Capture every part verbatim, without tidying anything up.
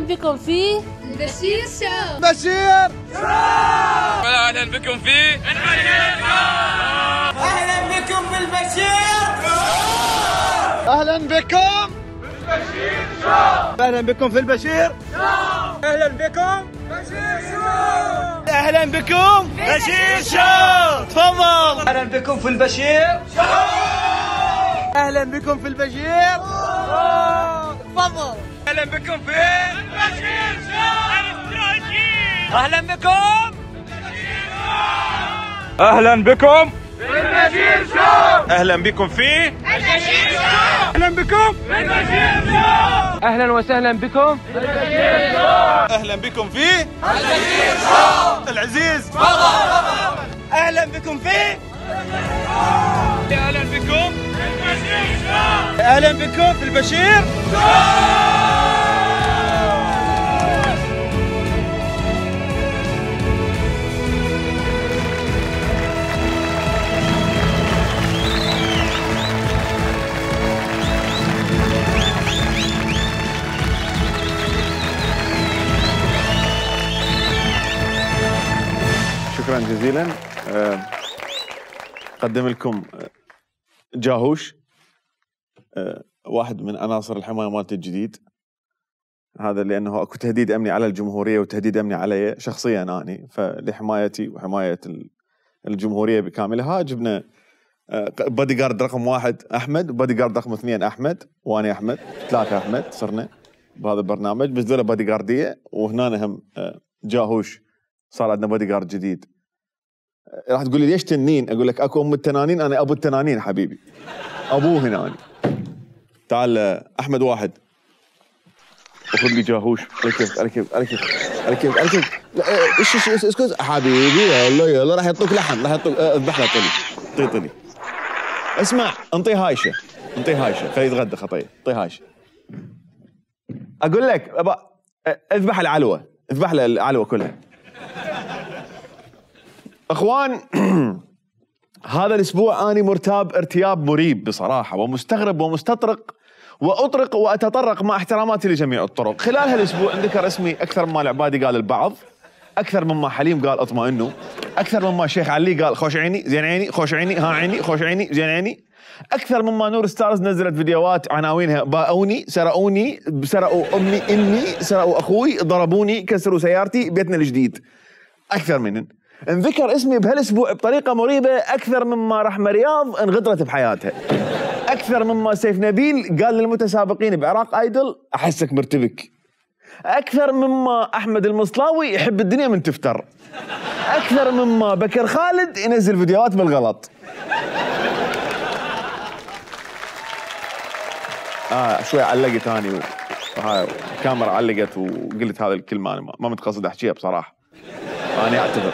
بكم في البشير شو. بشير شو. اهلا بكم في البشير شو. اهلا بكم في البشير شو. اهلا بكم بالبشير شو. اهلا بكم في البشير شو. اهلا بكم بشير شو. اهلا بكم بشير شو. تفضل. اهلا بكم في البشير شو. اهلا بكم في البشير شو. تفضل. اهلا بكم في البشير شو. اهلا بكم اهلا بكم بالبشير شو. اهلا بكم في البشير شو. اهلا بكم بالبشير شو. اهلا وسهلا بكم بالبشير شو. اهلا بكم في البشير شو. العزيز تفضل. اهلا بكم في اهلا بكم البشير شو. اهلا بكم في البشير شو. شكرا جزيلا. أه قدم لكم جاهوش، أه واحد من عناصر الحمايه مالتي الجديد. هذا لانه اكو تهديد امني على الجمهوريه وتهديد امني علي شخصيا اني، فلحمايتي وحمايه الجمهوريه بكاملها جبنا بادي جارد رقم واحد احمد، بادي جارد رقم اثنين احمد، وانا احمد، ثلاثه احمد صرنا بهذا البرنامج، بس ذولا بادي جارديه، وهنا هم جاهوش صار عندنا بادي جارد جديد. راح تقول لي ليش تنين؟ اقول لك اكو ام التنانين، انا ابو التنانين حبيبي، ابوه هنا. تعال احمد واحد وخذ لي جاهوش. ركب ركب ركب ركب ركب. ايش ايش ايش اسكت حبيبي، يلا يلا راح يعطوك لحم، راح يعطوك اذبح له طلي طي طلي. اسمع انطي هايشه، انطي هايشه خليه يتغدى خطيه، انطي هايشه. اقول لك ابا اذبح العلوه، اذبح له العلوه كلها. اخوان هذا الاسبوع اني مرتاب ارتياب مريب بصراحه، ومستغرب ومستطرق واطرق واتطرق مع احتراماتي لجميع الطرق. خلال هالاسبوع انذكر اسمي اكثر مما العبادي قال البعض، اكثر مما حليم قال اطمئنوا، اكثر مما شيخ علي قال خوش عيني زين عيني خوش عيني ها عيني خوش عيني زين عيني، اكثر مما نور ستارز نزلت فيديوهات عناوينها باؤوني سرقوني سرقوا امي امي سرقوا اخوي ضربوني كسروا سيارتي بيتنا الجديد. اكثر منن انذكر اسمي بهالاسبوع بطريقه مريبه اكثر مما رحمه رياض انغدرت بحياتها، اكثر مما سيف نبيل قال للمتسابقين بعراق ايدل احسك مرتبك، اكثر مما احمد المصلاوي يحب الدنيا من تفتر، اكثر مما بكر خالد ينزل فيديوهات بالغلط. اه شوي علقت اني وهاي الكاميرا علقت وقلت هذه الكلمه، انا ما متقصد احكيها بصراحه، انا اعتذر.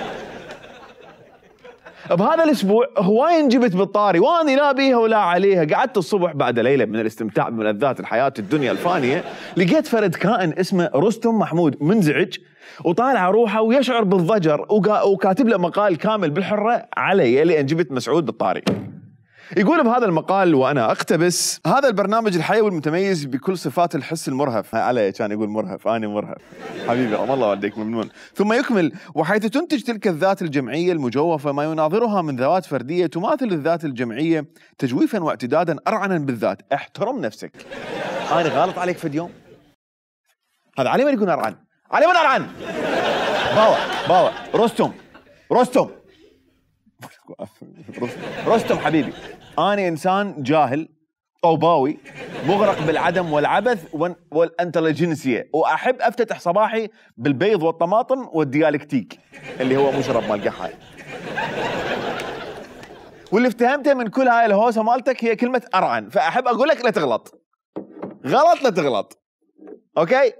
بهذا الاسبوع هواي انجبت بالطاري واني لا بيها ولا عليها. قعدت الصبح بعد ليله من الاستمتاع بملذات الحياه الدنيا الفانيه، لقيت فرد كائن اسمه رستم محمود منزعج وطالع روحه ويشعر بالضجر، وكاتب له مقال كامل بالحره علي لان جبت مسعود بالطاري. يقول بهذا المقال وانا اقتبس: هذا البرنامج الحيوي المتميز بكل صفات الحس المرهف. علي كان يقول مرهف، انا مرهف حبيبي الله والديك ممنون. ثم يكمل: وحيث تنتج تلك الذات الجمعيه المجوفه ما يناظرها من ذوات فرديه تماثل الذات الجمعيه تجويفا واعتدادا ارعنا بالذات. احترم نفسك. انا غلط عليك في اليوم؟ هذا علي من يكون ارعن؟ علي من ارعن؟ باوا باوا رستم رستم رستم حبيبي، أنا إنسان جاهل طوباوي مغرق بالعدم والعبث والانتليجنسية، وأحب أفتتح صباحي بالبيض والطماطم والديالكتيك اللي هو مشرب مال قحاي. واللي افتهمته من كل هاي الهوسة مالتك هي كلمة أرعن، فأحب أقول لك لا تغلط، غلط لا تغلط، أوكي؟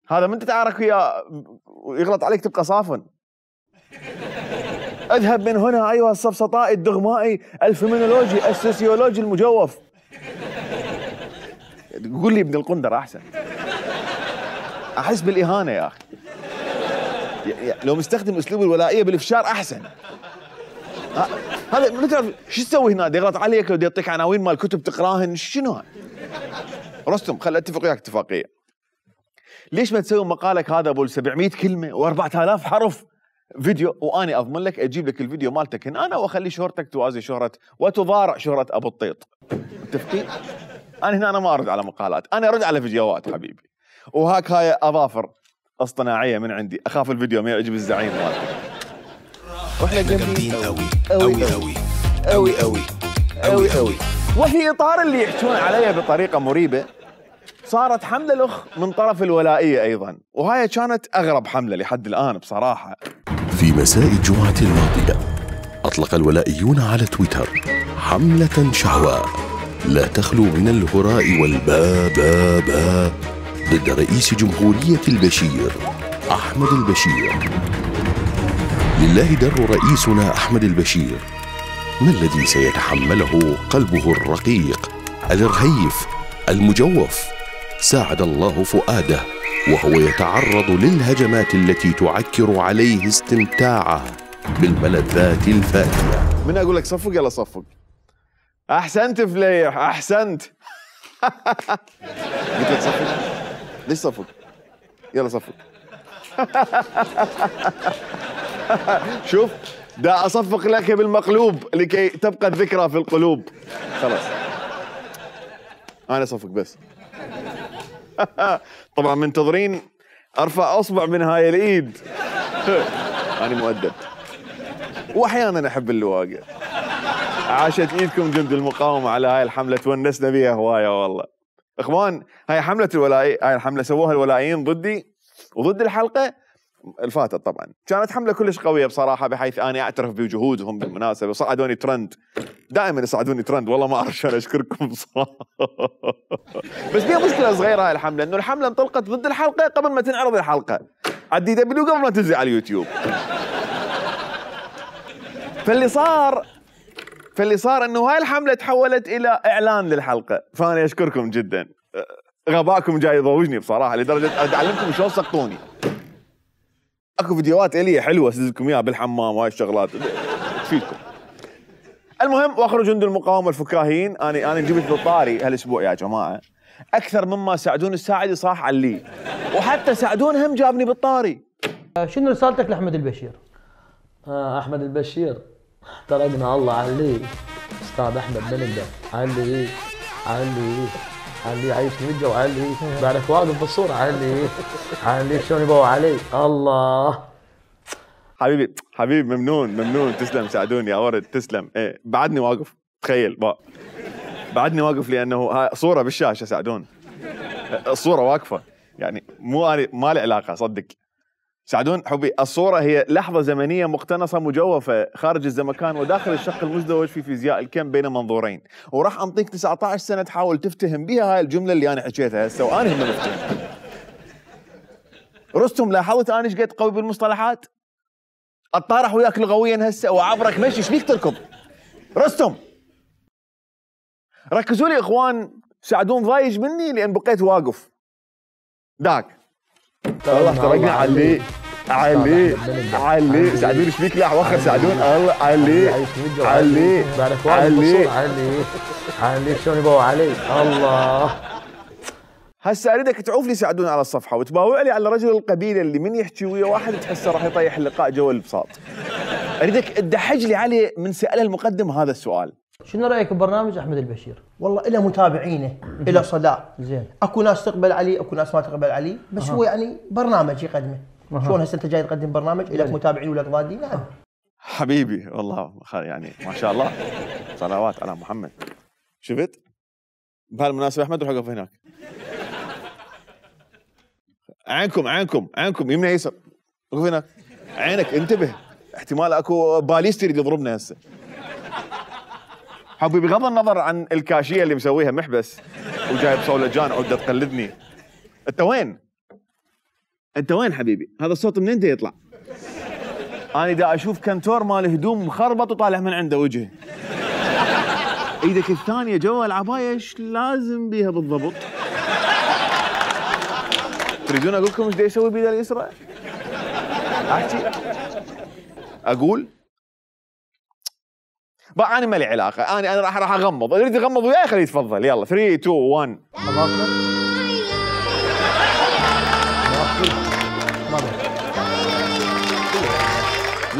هذا من تتعارك وياه ويغلط عليك تبقى صافن. اذهب من هنا ايها السفسطائي الدغمائي الفيمينولوجي السوسيولوجي المجوف. قول لي ابن القندر احسن. احس بالاهانه يا اخي. لو مستخدم اسلوب الولائيه بالافشار احسن. هذا ما تعرف شو تسوي هنا؟ يغلط عليك ودي يعطيك عناوين مال كتب تقراهن، شنو هذا؟ رستم خل اتفق وياك اتفاقيه. ليش ما تسوي مقالك هذا ابو سبعمية كلمه وأربعة آلاف حرف فيديو، واني اضمن لك اجيب لك الفيديو مالتك هنا انا واخلي شهرتك توازي شهره وتضارع شهره ابو الطيط. متفقين؟ انا هنا انا ما ارد على مقالات، انا ارد على فيديوهات حبيبي. وهاك هاي اظافر اصطناعيه من عندي، اخاف الفيديو ما يعجب الزعيم مالتك. واحنا جامدين قوي قوي قوي قوي قوي قوي قوي. وفي اطار اللي يحجون علي بطريقه مريبه، صارت حمله الاخ من طرف الولائيه ايضا، وهاي كانت اغرب حمله لحد الان بصراحه. في مساء الجمعه الماضيه اطلق الولائيون على تويتر حمله شعواء لا تخلو من الهراء والبا با با ضد رئيس جمهوريه البشير احمد البشير. لله در رئيسنا احمد البشير، ما الذي سيتحمله قلبه الرقيق الرهيف المجوف؟ ساعد الله فؤاده وهو يتعرض للهجمات التي تعكر عليه استمتاعه بالملذات الفاتية. من اقول لك صفق يلا صفق. احسنت فليح احسنت. قلت لك صفق. ليش صفق؟ يلا صفق. شوف دا اصفق لك بالمقلوب لكي تبقى الذكرى في القلوب. خلاص انا صفق بس. طبعا منتظرين ارفع اصبع من هاي الايد. انا مؤدب واحيانا احب اللواقع. عاشت ايدكم جند المقاومه على هاي الحمله، تونسنا بيها هوايه والله. اخوان هاي حمله الولائي، هاي الحمله سووها الولائيين ضدي وضد الحلقه الفاتت. طبعا كانت حمله كلش قويه بصراحه، بحيث اني اعترف بجهودهم بالمناسبه، وصعدوني ترند. دائما يصعدوني ترند والله ما اعرف شلون اشكركم بصراحه. بس فيها مشكله صغيره هاي الحمله، انه الحمله انطلقت ضد الحلقه قبل ما تنعرض الحلقه على الدي دبليو، قبل ما تنزل على اليوتيوب. فاللي صار فاللي صار انه هاي الحمله تحولت الى اعلان للحلقه، فانا اشكركم جدا. غباكم جاي يضوجني بصراحه، لدرجه اتعلمكم شلون سقطوني. اكو فيديوهات الي حلوه اسدد لكم اياها بالحمام وهاي الشغلات تفيدكم. المهم واخر جند المقاومه الفكاهيين، انا انا جبت بالطاري هالاسبوع يا جماعه اكثر مما ساعدون الساعدي صاح علي، وحتى ساعدون هم جابني بالطاري. شنو رسالتك لاحمد البشير؟ آه احمد البشير احترقنا الله عليه استاذ احمد بندر، علي علي علي عايشني وجه وعلي بعرف واقف بالصوره، علي علي شلون يبوا علي الله. حبيبي حبيبي ممنون ممنون، تسلم ساعدوني يا ورد تسلم. ايه بعدني واقف، تخيل بقى بعدني واقف لانه هاي صوره بالشاشه ساعدون، الصوره واقفه يعني مو انا ما لي علاقه صدق. ساعدون حبي، الصورة هي لحظة زمنية مقتنصة مجوفة خارج الزمكان وداخل الشق المزدوج في فيزياء الكم بين منظورين، وراح أنطيك تسعة عشر سنة تحاول تفتهم بها هاي الجملة اللي أنا حكيتها هسه وأنا هم مفتهم. رستم لاحظت أنا ايش قد قوي بالمصطلحات؟ أتطارح وياك لغويا هسه وعبرك مشي، ايش بيك تركض؟ رستم ركزوا لي إخوان، ساعدون ضايج مني لأن بقيت واقف. داك والله احترقنا علي علي علي ساعدوني ايش بيك؟ لا وخر ساعدون الله علي علي بعرف واقف بالصوره، علي علي شلون يبوا علي الله. هسه اريدك تعوف لي ساعدوني على الصفحه وتباوع لي على رجل القبيله اللي من يحكي ويا واحد تحسه راح يطيح اللقاء جو البساط. اريدك تدحج لي عليه من ساله المقدم هذا السؤال. شنو رايك ببرنامج احمد البشير؟ والله له متابعينه، له صدى. زين. اكو ناس تقبل عليه، اكو ناس ما تقبل عليه، بس أه. هو يعني برنامج يقدمه. أه. شلون هسه انت جاي تقدم برنامج لك متابعين ولك ضادين؟ لا حبيبي والله يعني ما شاء الله صلوات على محمد. شفت؟ بهالمناسبه احمد روح وقف هناك. عينكم عينكم عينكم يمنى يسر، وقف هناك. عينك انتبه، احتمال اكو باليست يريد يضربنا هسه. حبي بغض النظر عن الكاشيه اللي مسويها محبس وجايب صولجان عده تقلدني. انت وين؟ انت وين حبيبي؟ هذا الصوت منين دا يطلع؟ انا دا اشوف كنتور مال هدوم مخربط وطالع من عنده وجهه. ايدك الثانيه جوا العبايه ايش لازم بيها بالضبط؟ تريدون اقول لكم ايش دا يسوي بيده اليسرى؟ احكي اقول بقى انا ما لي علاقه، انا انا راح راح اغمض، اللي يريد يغمض وياي خليه يتفضل. يلا ثلاثة اثنين واحد. ما بي.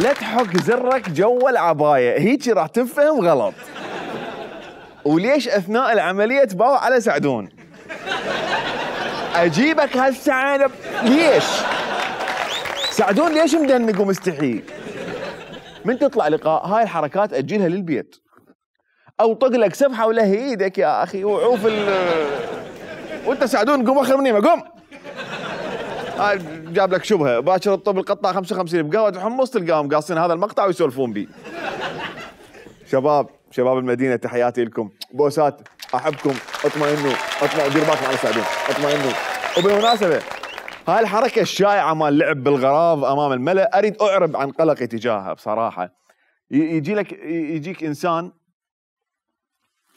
لا تحك زرك جوا العبايه، هيجي راح تنفهم غلط. وليش اثناء العمليه تباوع على سعدون؟ اجيبك هسه انا ليش؟ سعدون ليش مدنق ومستحي؟ من تطلع لقاء هاي الحركات اجلها للبيت. او طق لك سبحه ولا هي ايدك يا اخي وعوف ال وانت سعدون قوم اخر مني قوم. هاي جاب لك شبهه باكر الطب القطاع خمسة وخمسين بقهوه حمص تلقاهم قاصين هذا المقطع ويسولفون بيه. شباب شباب المدينه تحياتي لكم، بوسات، احبكم، اطمئنوا، اطمئنوا، دير بالكم على سعدون، اطمئنوا. وبالمناسبه هاي الحركه الشائعه مال لعب بالغراض امام الملأ اريد اعرب عن قلقي تجاهها بصراحه. يجي لك يجيك انسان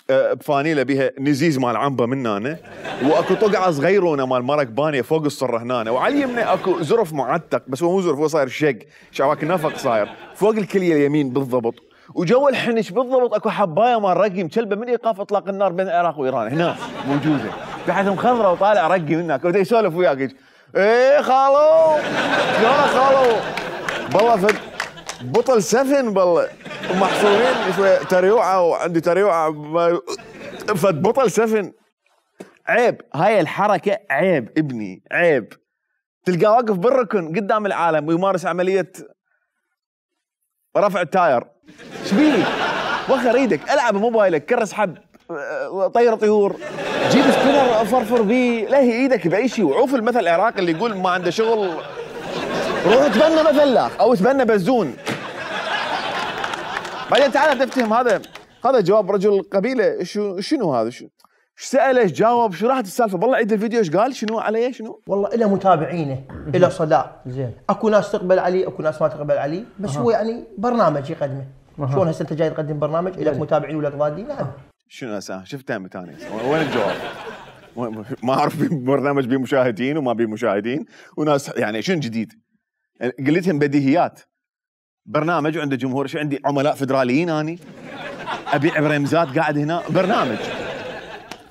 بفانيله بها نزيز مال عنبه من هنا، واكو طقعه صغيرونه مال مرق بانيه فوق الصره هنا، وعلى اليمنى اكو زرف معتق، بس هو مو زرف، هو صاير شق شعواك نفق صاير فوق الكليه اليمين بالضبط، وجو الحنش بالضبط اكو حبايه مال رقي مشلبه من ايقاف اطلاق النار بين العراق وايران هنا موجوده، بحيث مخضره وطالع رقي من هناك، ودا يسولف وياك ايه خالو شلونك خالو؟ بالله فد بطل سفن بالله محصورين شويه تريوعه وعندي تريوعه فد بطل سفن. عيب هاي الحركه عيب ابني عيب. تلقاه واقف بالركن قدام العالم ويمارس عمليه رفع التاير. شبيك؟ وخر ايدك العب بموبايلك كرس حب طير طيور جيب سبينر فرفر بيه لهي ايدك باي شيء. وعوف المثل العراقي اللي يقول ما عنده شغل روح تبنى مثلاخ او تبنى بزون. بعدين تعال تفتهم هذا هذا جواب رجل قبيله. شو شنو هذا؟ شو ايش ساله؟ ايش جاوب؟ شو راحت السالفه؟ والله عيد الفيديو ايش قال؟ شنو عليه؟ شنو؟ والله له متابعينه له صدى زين. اكو ناس تقبل عليه اكو ناس ما تقبل عليه، بس أه. هو يعني برنامج يقدمه. أه. شلون هسه انت جاي تقدم برنامج لك متابعين ولك ضادين؟ نعم. شنو هسه؟ شفتها متاني وين الجواب؟ ما اعرف برنامج بيه مشاهدين وما بيه مشاهدين وناس يعني شنو جديد؟ يعني قلتهم بديهيات. برنامج وعنده جمهور. شو عندي عملاء فدراليين اني؟ ابيع برمزات قاعد هنا برنامج.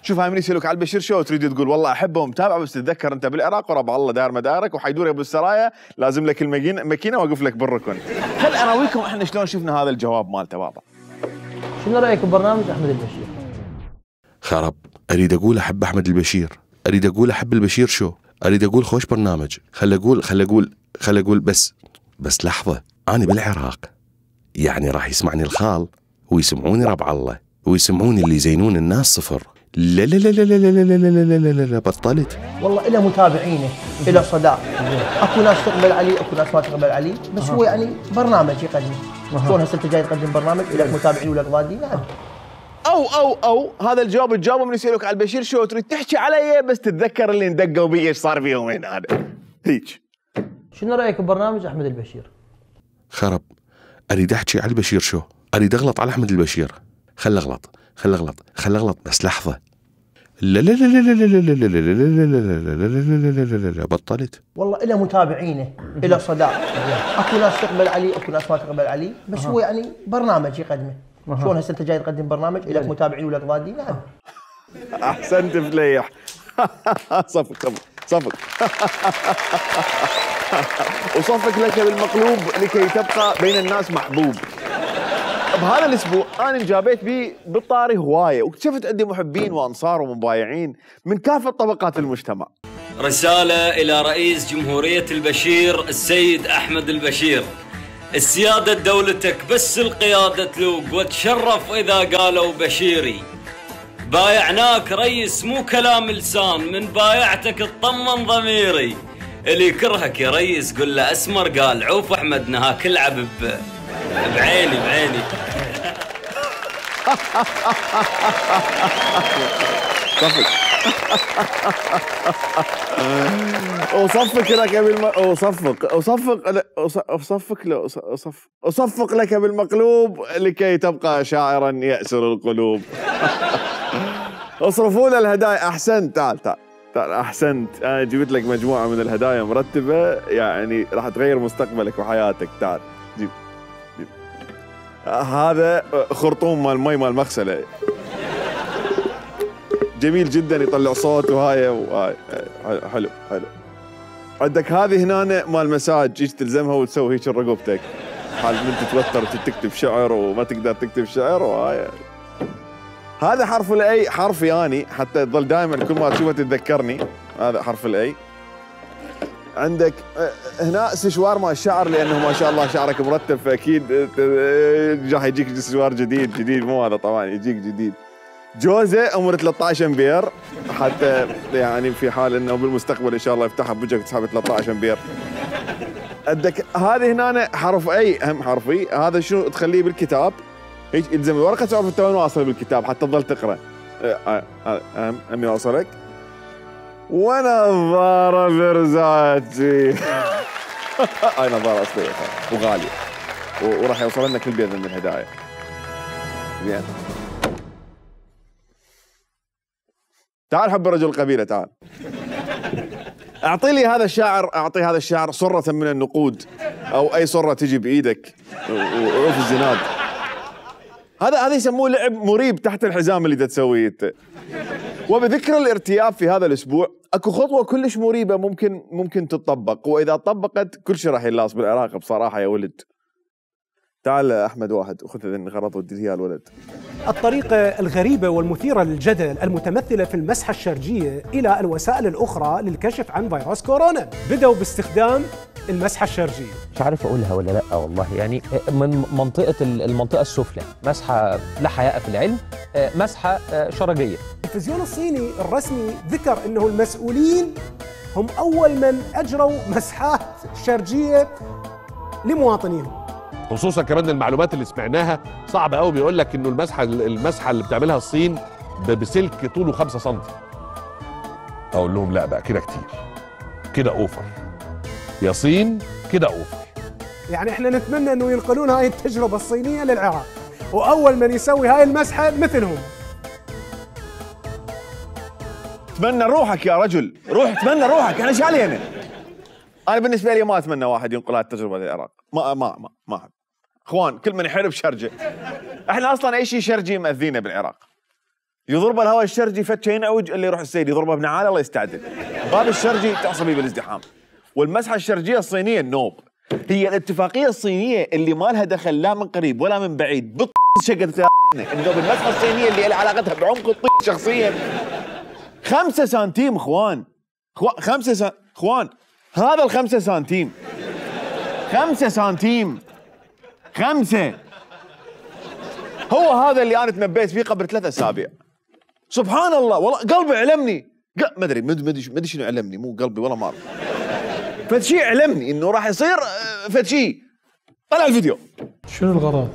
شوف هاي من يسالوك على البشير شو تريد تقول والله احبه ومتابعه، بس تتذكر انت بالعراق وربع الله داير مدارك وحيدور ابو السرايا لازم لك الماكينه واقف لك بالركن. خل اراويكم احنا شلون شفنا هذا الجواب مالته بابا. شنو رايك ببرنامج احمد البشير؟ خرب. اريد اقول احب احمد البشير، اريد اقول احب البشير شو، اريد اقول خوش برنامج. خل اقول خل اقول خل اقول بس بس لحظه، انا بالعراق يعني راح يسمعني الخال ويسمعوني ربع الله ويسمعوني اللي يزينون الناس صفر. لا لا لا لا لا لا لا لا لا لا لا بطلت. والله له متابعينه له صدى. اكو ناس تقبل عليه اكو ناس ما تقبل عليه، بس هو يعني برنامج يقدمه. شلون هسه انت جاي تقدم برنامج لك متابعين ولك ضادين؟ نعم. او او او هذا الجواب تجاوبه من يسالوك على البشير شو تريد تحكي علي، بس تتذكر اللي اندقوا بيه ايش صار فيهم هنا هذا هيك. شنو رايك ببرنامج احمد البشير؟ خرب. اريد احكي على البشير شو، اريد اغلط على احمد البشير. خل اغلط خل اغلط خل اغلط بس لحظه. لا لا لا لا لا لا لا لا لا لا لا لا بطلت. والله له متابعينه له صدى. اكو ناس تقبل عليه اكو ناس ما تقبل عليه، بس هو يعني برنامج يقدمه. شلون هسه انت جاي تقدم برنامج لك متابعين ولك ضادين؟ نعم. احسنت فليح. صفق صفق صفق. وصفق لك بالمقلوب لكي تبقى بين الناس محبوب. بهذا الاسبوع انا انجابيت بيه بالطاري هوايه، واكتشفت عندي محبين وانصار ومبايعين من كافه طبقات المجتمع. رساله الى رئيس جمهوريه البشير السيد احمد البشير. السياده دولتك بس القياده تلوق، وتشرف اذا قالوا بشيري. بايعناك ريس مو كلام لسان، من بايعتك اطمن ضميري. اللي يكرهك يا ريس قل له اسمر قال عوف احمد نهاك العب بعيني بعيني. صفق. أصفق لك بالم... أصفق أصفق أصفق له أصفق أصفق لك بالمقلوب لكي تبقى شاعرا يأسر القلوب. اصرفوا له الهدايا. أحسنت. تعال تعال تعال أحسنت. أنا جبت لك مجموعة من الهدايا مرتبة يعني راح تغير مستقبلك وحياتك. تعال جيب جيب. هذا خرطوم مال مي مال مغسلة جميل جدا يطلع صوت وهاي وهاي. حلو حلو. عندك هذه هنا مال مساج، ايش تلزمها وتسوي هيك رقبتك حال من تتوتر وتكتب شعر وما تقدر تكتب شعر. وهاي هذا حرف الاي، حرفي اني حتى تظل دائما كل ما تشوفه تتذكرني. هذا حرف الاي. عندك هنا سشوار مال الشعر، لانه ما شاء الله شعرك مرتب فاكيد راح يجيك سشوار جديد جديد، مو هذا طبعا يجيك جديد. جوزه عمره ثلاثة عشر امبير، حتى يعني في حال انه بالمستقبل ان شاء الله يفتحها بوجهك تسحب ثلاثة عشر امبير. عندك هذه هنا حرف اي، اهم حرفي. هذا شنو تخليه بالكتاب هيك يلزم ورقه تعرف انت وين واصل بالكتاب حتى تظل تقرا. اهم اهم يوصلك. ونظاره فرزاتي. هاي نظاره اصليه وغاليه وراح يوصل لنا كل بيت من الهدايا. زين تعال حب رجل القبيله، تعال اعطي لي هذا الشاعر، اعطي هذا الشاعر صره من النقود او اي صره تجي بايدك وعوف الزناد. هذا هذا يسموه لعب مريب تحت الحزام اللي تسويه انت. وبذكر الارتياب في هذا الاسبوع اكو خطوه كلش مريبه ممكن ممكن تطبق، واذا طبقت كل شيء راح يلاص بالعراق بصراحه يا ولد. تعال احمد واحد وخذ الغرض ودي اياه الولد. الطريقة الغريبة والمثيرة للجدل المتمثلة في المسحة الشرجية إلى الوسائل الأخرى للكشف عن فيروس كورونا. بدأوا باستخدام المسحة الشرجية. مش عارف أقولها ولا لأ والله، يعني من منطقة المنطقة السفلى مسحة لا حياء في العلم، مسحة شرجية. التلفزيون الصيني الرسمي ذكر أنه المسؤولين هم أول من أجروا مسحات شرجية لمواطنيهم. خصوصا كمان المعلومات اللي سمعناها صعبه قوي، بيقول لك انه المسحه المسحه اللي بتعملها الصين بسلك طوله خمسة سنتي. اقول لهم لا بقى كده كتير، كده اوفر يا صين، كده اوفر. يعني احنا نتمنى انه ينقلون هاي التجربه الصينيه للعراق، واول من يسوي هاي المسحه مثلهم. تمنى روحك يا رجل، روح تمنى روحك، انا ايش علينا؟ انا بالنسبه لي ما اتمنى واحد ينقل هاي التجربه للعراق، ما ما ما ما احب. اخوان كل من يحارب شرجه. احنا اصلا اي شيء شرجي ماذينا بالعراق. يضرب الهواء الشرجي فتشه ينعوج اللي يروح السيد يضربه بنعال الله يستعدل. باب الشرجي تعصبي بالازدحام. والمسحه الشرجيه الصينيه النوب. هي الاتفاقيه الصينيه اللي ما لها دخل لا من قريب ولا من بعيد بط شقت النوب. المسحه الصينيه اللي لها علاقتها بعمق الطيب شخصيا. خمسة سنتيم اخوان. خمسة سنتيم اخوان. هذا الخمسة سنتيم خمسة سنتيم خمسة هو هذا اللي أنا تنبيت فيه قبل ثلاثة أسابيع. سبحان الله والله قلبي علمني، ما أدري ما أدري شنو علمني، مو قلبي ولا ما أعرف. فد شيء علمني إنه راح يصير فد شيء. طلع الفيديو. شنو الغرض؟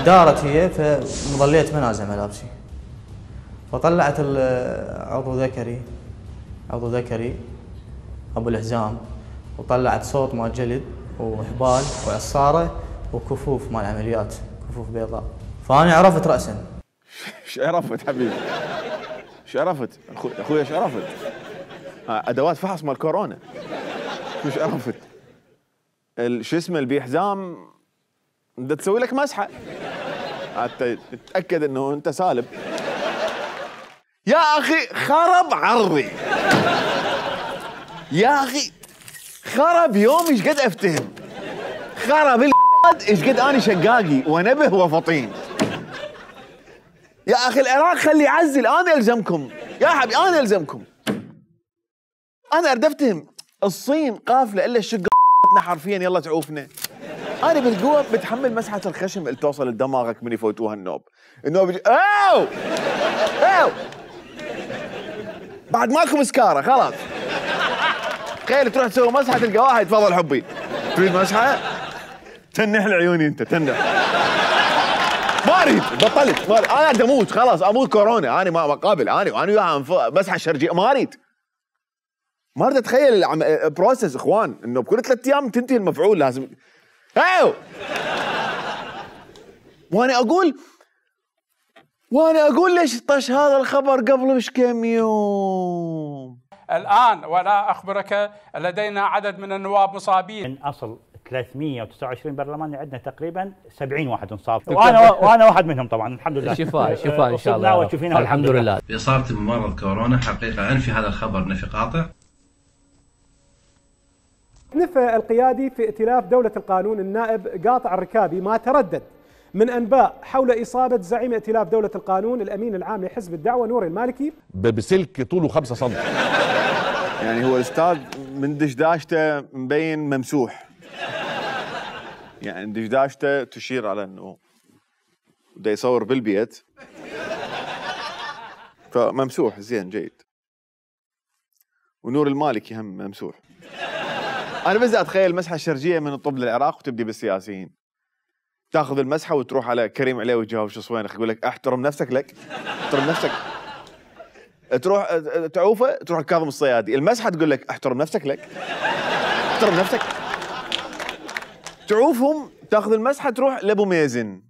دارت هي فظليت منازع ملابسي، فطلعت عضو ذكري عضو ذكري ابو الحزام، وطلعت صوت مال جلد وحبال وعصاره وكفوف مال عمليات، كفوف بيضاء. فانا عرفت راسا. ايش عرفت حبيبي؟ ايش عرفت؟ اخوي ايش عرفت؟ ادوات فحص مال كورونا. ايش عرفت؟ شو اسمه البي حزام بدها تسوي لك مسحه حتى تتاكد انه انت سالب. يا اخي خرب عرضي. يا اخي خرب يوم ايش قد افتهم. خرب القد ايش قد اني شقاقي ونبه وفطين. يا اخي العراق خلي يعزل، انا الزمكم يا حبيبي، انا الزمكم. انا اريد افتهم الصين قافله الا الشقه حرفيا يلا تعوفنا. انا بالقوه بتحمل مسحه الخشم اللي توصل لدماغك من يفوتوها النوب. النوب يجي اوو اوو بعد ماكو مسكاره خلاص. تخيل تروح تسوي مسحه تلقى واحد تفضل حبي تريد مسحه؟ تنح العيوني انت تنح. ما اريد بطلت ما انا بدي اموت خلاص، اموت كورونا. انا ما قابل انا وانا وياها مسحه شرجيه ما اريد. ما اريد اتخيل البروسس اخوان انه بكل ثلاث ايام تنتهي المفعول لازم. ايوه وانا اقول وانا اقول ليش طش هذا الخبر قبل مش كم يوم. الان ولا اخبرك لدينا عدد من النواب مصابين. من اصل ثلاثمئة وتسعة وعشرين برلماني عندنا تقريبا سبعين واحد مصاب، وانا وانا واحد منهم طبعا الحمد لله. شفاء شفاء ان شاء الله الحمد لله. باصابتي بمرض كورونا حقيقه انفي هذا الخبر نفي قاطع. نفى القيادي في ائتلاف دولة القانون النائب قاطع الركابي ما تردد من أنباء حول إصابة زعيم ائتلاف دولة القانون الأمين العام لحزب الدعوة نور المالكي بسلك طوله خمسة سم. يعني هو الأستاذ من دشداشته مبين ممسوح، يعني دشداشته تشير على أنه بده يصور بالبيت فممسوح زين جيد. ونور المالكي هم ممسوح. أنا بس أتخيل المسحة الشرجية من الطب للعراق وتبدي بالسياسيين. تاخذ المسحة وتروح على كريم عليه وتجاوب شو صوينك، يقول لك احترم نفسك لك، احترم نفسك. تروح تعوفه تروح لكاظم الصيادي، المسحة تقول لك احترم نفسك لك، احترم نفسك. تعوفهم تاخذ المسحة تروح لأبو ميزن.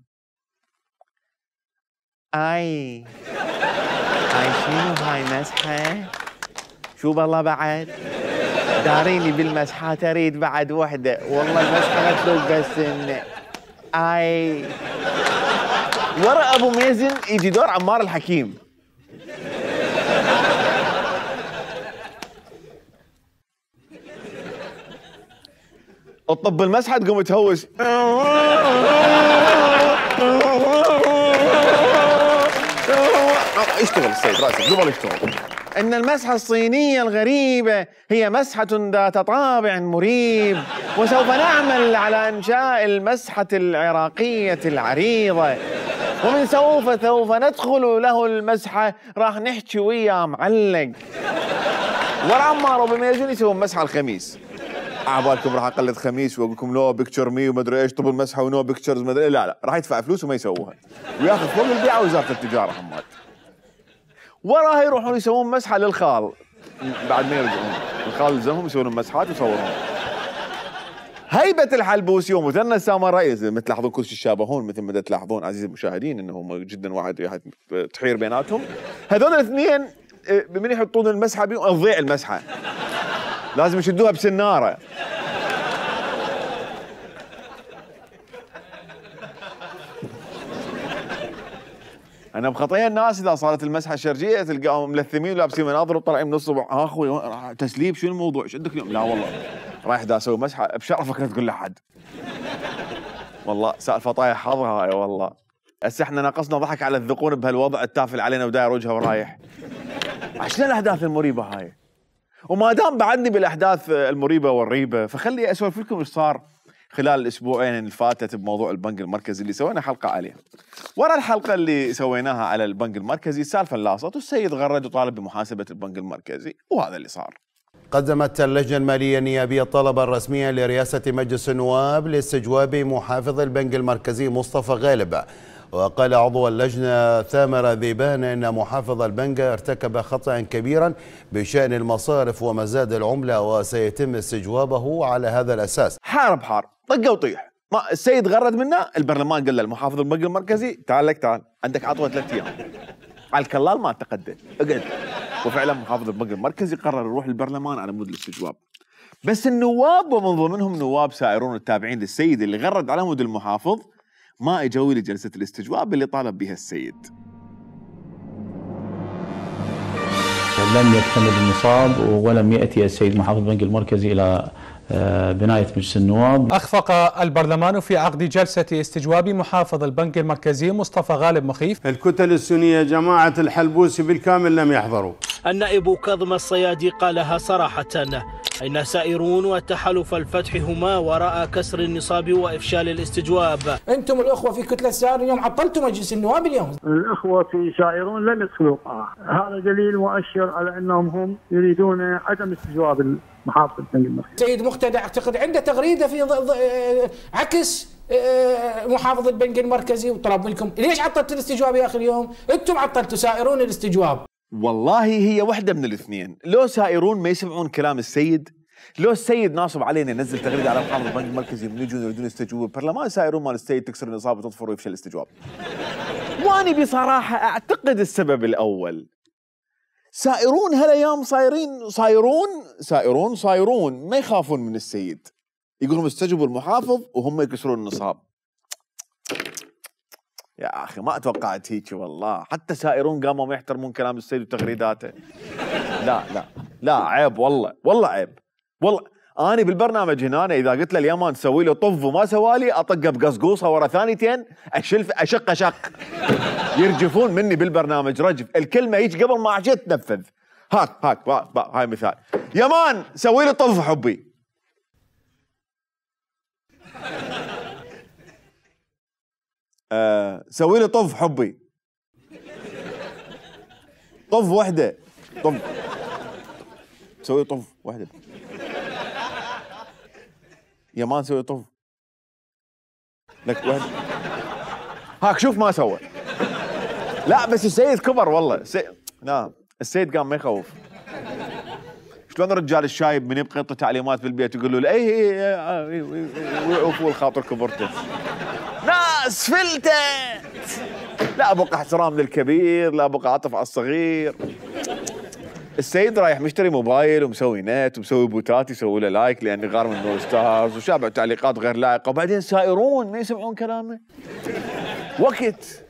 اي هاي شنو هاي مسحة؟ شو بالله بعد؟ داريني بالمسحة تريد بعد وحدة، والله المسحة ما تلوق بس إن اي ورا ابو ميزن يجي دور عمار الحكيم. الطب المسحة تقوم تهوس. اشتغل السيد راسك قبل يشتغل. إن المسحة الصينية الغريبة هي مسحة ذات طابع مريب، وسوف نعمل على إنشاء المسحة العراقية العريضة، ومن سوف سوف ندخل له المسحة راح نحكي وياه معلق. ورا عمار وبميزون يسوون مسحة الخميس. عبالكم راح اقلد خميس واقول لكم نو بيكتشر مي ومدري ايش طب المسحه ونو بيكتشرز مدري، لا لا راح يدفع فلوس وما يسووها وياخذ فوق البيعه وزاره التجاره حماد. وراها يروحون يسوون مسحه للخال بعد ما يرجعون، الخال يلزمهم يسوون مسحات ويصورون. هيبه الحلبوسي ومثنى السامر الرئيس مثل تلاحظون كل شيء يشابهون، مثل ما تلاحظون عزيزي المشاهدين انهم جدا واحد تحير بيناتهم. هذول الاثنين من يحطون المسحه بيهم تضيع المسحه، لازم يشدوها بسناره. انا بخطيه الناس اذا صارت المسحه الشرجيه تلقاهم ملثمين ولابسين مناظر وطالعين من الصبح، ها اخوي تسليب شو الموضوع؟ ايش عندك اليوم؟ لا والله رايح دا اسوي مسحه، بشرفك لا تقول لاحد. والله سالفه طايح حظها هاي والله. هسه احنا ناقصنا ضحك على الذقون بهالوضع التافل علينا وداير وجهه ورايح. عشان الاحداث المريبه هاي. وما دام بعدني بالاحداث المريبه والريبه فخلي اسولف لكم ايش صار خلال الاسبوعين اللي فاتت بموضوع البنك المركزي اللي سوينا حلقه عليه. ورا الحلقه اللي سويناها على البنك المركزي السالفه لاصت والسيد غرد وطالب بمحاسبه البنك المركزي، وهذا اللي صار. قدمت اللجنه الماليه النيابيه الطلب الرسمي لرئاسه مجلس النواب لاستجواب محافظ البنك المركزي مصطفى غالب. وقال عضو اللجنة ثامر ذيبان إن محافظ البنك ارتكب خطأ كبيرا بشأن المصارف ومزاد العملة وسيتم استجوابه على هذا الأساس. حار بحار طقه وطيح، ما السيد غرد منا، البرلمان قال له المحافظ البنك المركزي تعال لك تعال عندك عطوه ثلاث أيام على الكلال ما تقدم اقعد. وفعلا محافظ البنك المركزي قرر يروح للبرلمان على مود الاستجواب. بس النواب ومن ضمنهم نواب سائرون التابعين للسيد اللي غرد على مود المحافظ ما اجوا لجلسه الاستجواب اللي طالب بها السيد. لم يكتمل النصاب ولم ياتي السيد محافظ البنك المركزي الى بنايه مجلس النواب. اخفق البرلمان في عقد جلسه استجواب محافظ البنك المركزي مصطفى غالب مخيف. الكتل السنيه جماعه الحلبوسي بالكامل لم يحضروا. النائب كاظم الصيادي قالها صراحه أين سائرون وتحالف الفتح هما وراء كسر النصاب وإفشال الاستجواب. أنتم الأخوة في كتلة سائر اليوم عطلتم مجلس النواب اليوم. الأخوة في سائرون لم يدخلوا القاعة، هذا دليل مؤشر على أنهم هم يريدون عدم استجواب محافظ البنك المركزي. سيد مقتدى أعتقد عنده تغريدة في عكس محافظ البنك المركزي وطلب منكم ليش عطلت الاستجواب يا أخي اليوم؟ أنتم عطلتوا سائرون الاستجواب. والله هي واحدة من الاثنين، لو سائرون ما يسمعون كلام السيد، لو السيد ناصب علينا ينزل تغريده على محافظ البنك المركزي من يجون يريدون يستجوبوا البرلمان، سائرون مال السيد تكسر النصاب وتطفر ويفشل الاستجواب. واني بصراحه اعتقد السبب الاول. سائرون هالايام صايرين صايرون سائرون صايرون ما يخافون من السيد. يقولون استجوبوا المحافظ وهم يكسرون النصاب. يا اخي ما توقعت هيك والله، حتى سائرون قاموا ما يحترمون كلام السيد وتغريداته. لا لا لا عيب والله، والله عيب. والله اني بالبرنامج هنا أنا اذا قلت له اليمن سوي له طف وما سوالي اطقه بقصقوصه ورا ثانيتين اشلف اشق شق. يرجفون مني بالبرنامج رجف، الكلمه هيك قبل ما عشت تنفذ. هاك هاك با با هاي مثال. يمان سوي له طف حبي. آه سوي له طف حبي. طف وحده طف سوي طف وحده. يمان سوي طف لك وحده. هاك شوف ما سوى. لا بس السيد كبر والله. سي... لا السيد قام ما يخوف. شلون الرجال الشايب من يبقى يعطي تعليمات بالبيت يقول له اي ويعوفوا الخاطر كبرته. ناس فلتت. لا بقى احترام للكبير، لا بقى عطف على الصغير. السيد رايح مشتري موبايل ومسوي نت ومسوي بوتات يسوي له لايك لانه غار من نور ستارز وشابع تعليقات غير لائقه، وبعدين سائرون ما يسمعون كلامه. وقت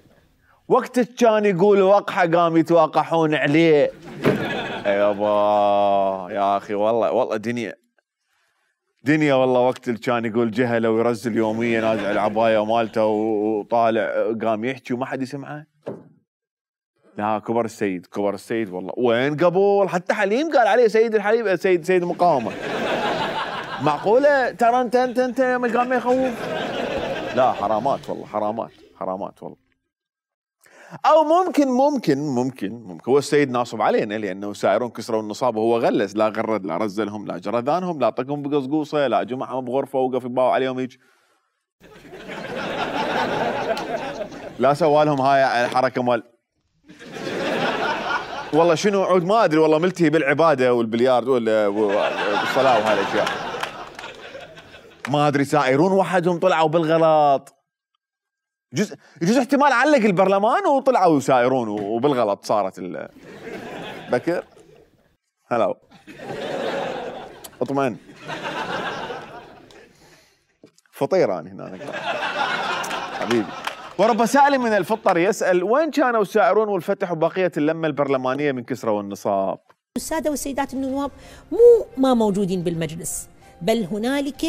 وقت كان يقول وقحه قام يتواقحون عليه. يابا يا اخي والله والله دنيا دنيا والله. وقت اللي كان يقول جهله ويرزل يوميا نازع العبايه مالته وطالع قام يحكي وما حد يسمعه. لا كبر السيد كبر السيد والله. وين قبول حتى حليم قال عليه سيد الحليم سيد سيد المقاومه. معقوله ترى انت انت انت ما قام يخوف. لا حرامات والله حرامات حرامات والله. او ممكن ممكن ممكن ممكن هو السيد ناصب علينا لانه سائرون كسروا النصاب وهو غلس، لا غرد لا رزلهم لا جرذانهم لا طقهم بقصقوصه لا جمعهم بغرفه وقف يباوع عليهم هيك. لا سوالهم هاي الحركه مال والله شنو عود ما ادري والله ملتهي بالعباده والبليارد والصلاه وهاي الاشياء. ما ادري سائرون وحدهم طلعوا بالغلط. جزء يجوز احتمال علق البرلمان وطلعوا سائرون وبالغلط صارت ال بكر. هلا اطمئن فطير انا هنا حبيبي. ورب سائل من الفطر يسأل وين كانوا السائرون والفتح وبقية اللمة البرلمانية من كسرى والنصاب؟ السادة والسيدات النواب مو ما موجودين بالمجلس، بل هنالك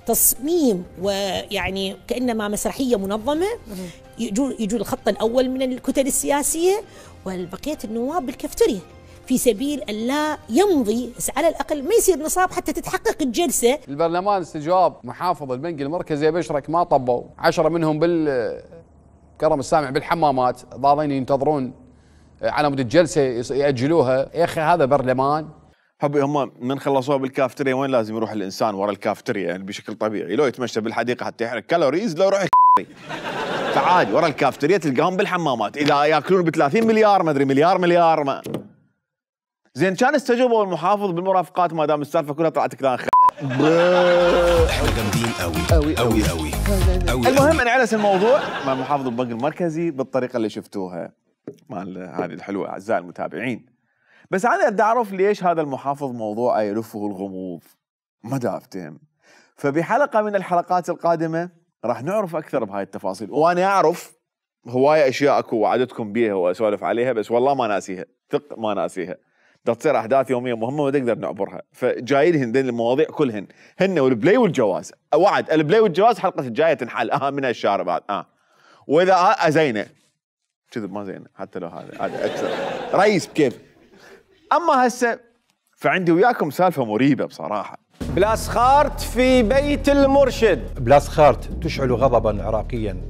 تصميم ويعني كأنما مسرحية منظمة. يجوا يجوا الخط الأول من الكتل السياسية والبقية النواب بالكفترية في سبيل أن لا يمضي، بس على الأقل ما يصير نصاب حتى تتحقق الجلسة. البرلمان استجواب محافظ البنك المركزي بشرك ما طبوا، عشرة منهم بالكرم السامع بالحمامات ضاضين ينتظرون على مود الجلسة يأجلوها. يا أخي هذا برلمان. حبي هم من خلصوها بالكافتريا وين لازم يروح الإنسان ورا الكافتريا يعني بشكل طبيعي، لو يتمشى بالحديقة حتى يحرق كالوريز لو يروح فعادي ورا الكافتريا تلقاهم بالحمامات. إذا ياكلون ب ثلاثين مليار ما أدري مليار مليار ما زين كان استجوبوا المحافظ بالمرافقات ما دام السالفه كلها طلعت كلام خ احنا جامدين قوي قوي قوي قوي. المهم انعلس الموضوع مع محافظ البنك المركزي بالطريقه اللي شفتوها مال هذه الحلوه اعزائي المتابعين. بس انا بدي اعرف ليش هذا المحافظ موضوعه يلفه الغموض ما دا افتهم. فبحلقه من الحلقات القادمه راح نعرف اكثر بهاي التفاصيل، وانا اعرف هوايه اشياء اكو وعدتكم بيها واسولف عليها بس والله ما ناسيها، ثق ما ناسيها. بدها تصير احداث يوميه مهمه وما نقدر نعبرها، فجايين هن المواضيع كلهن هن والبلاي والجواز. وعد البلاي والجواز الحلقه الجايه تنحل اهم من الشارع بعد اه واذا آه زينه كذب ما زينه حتى لو هذا هذا اكثر رئيس بكيف. اما هسه فعندي وياكم سالفه مريبه بصراحه. بلاسخارت في بيت المرشد. بلاسخارت تشعل غضبا عراقيا،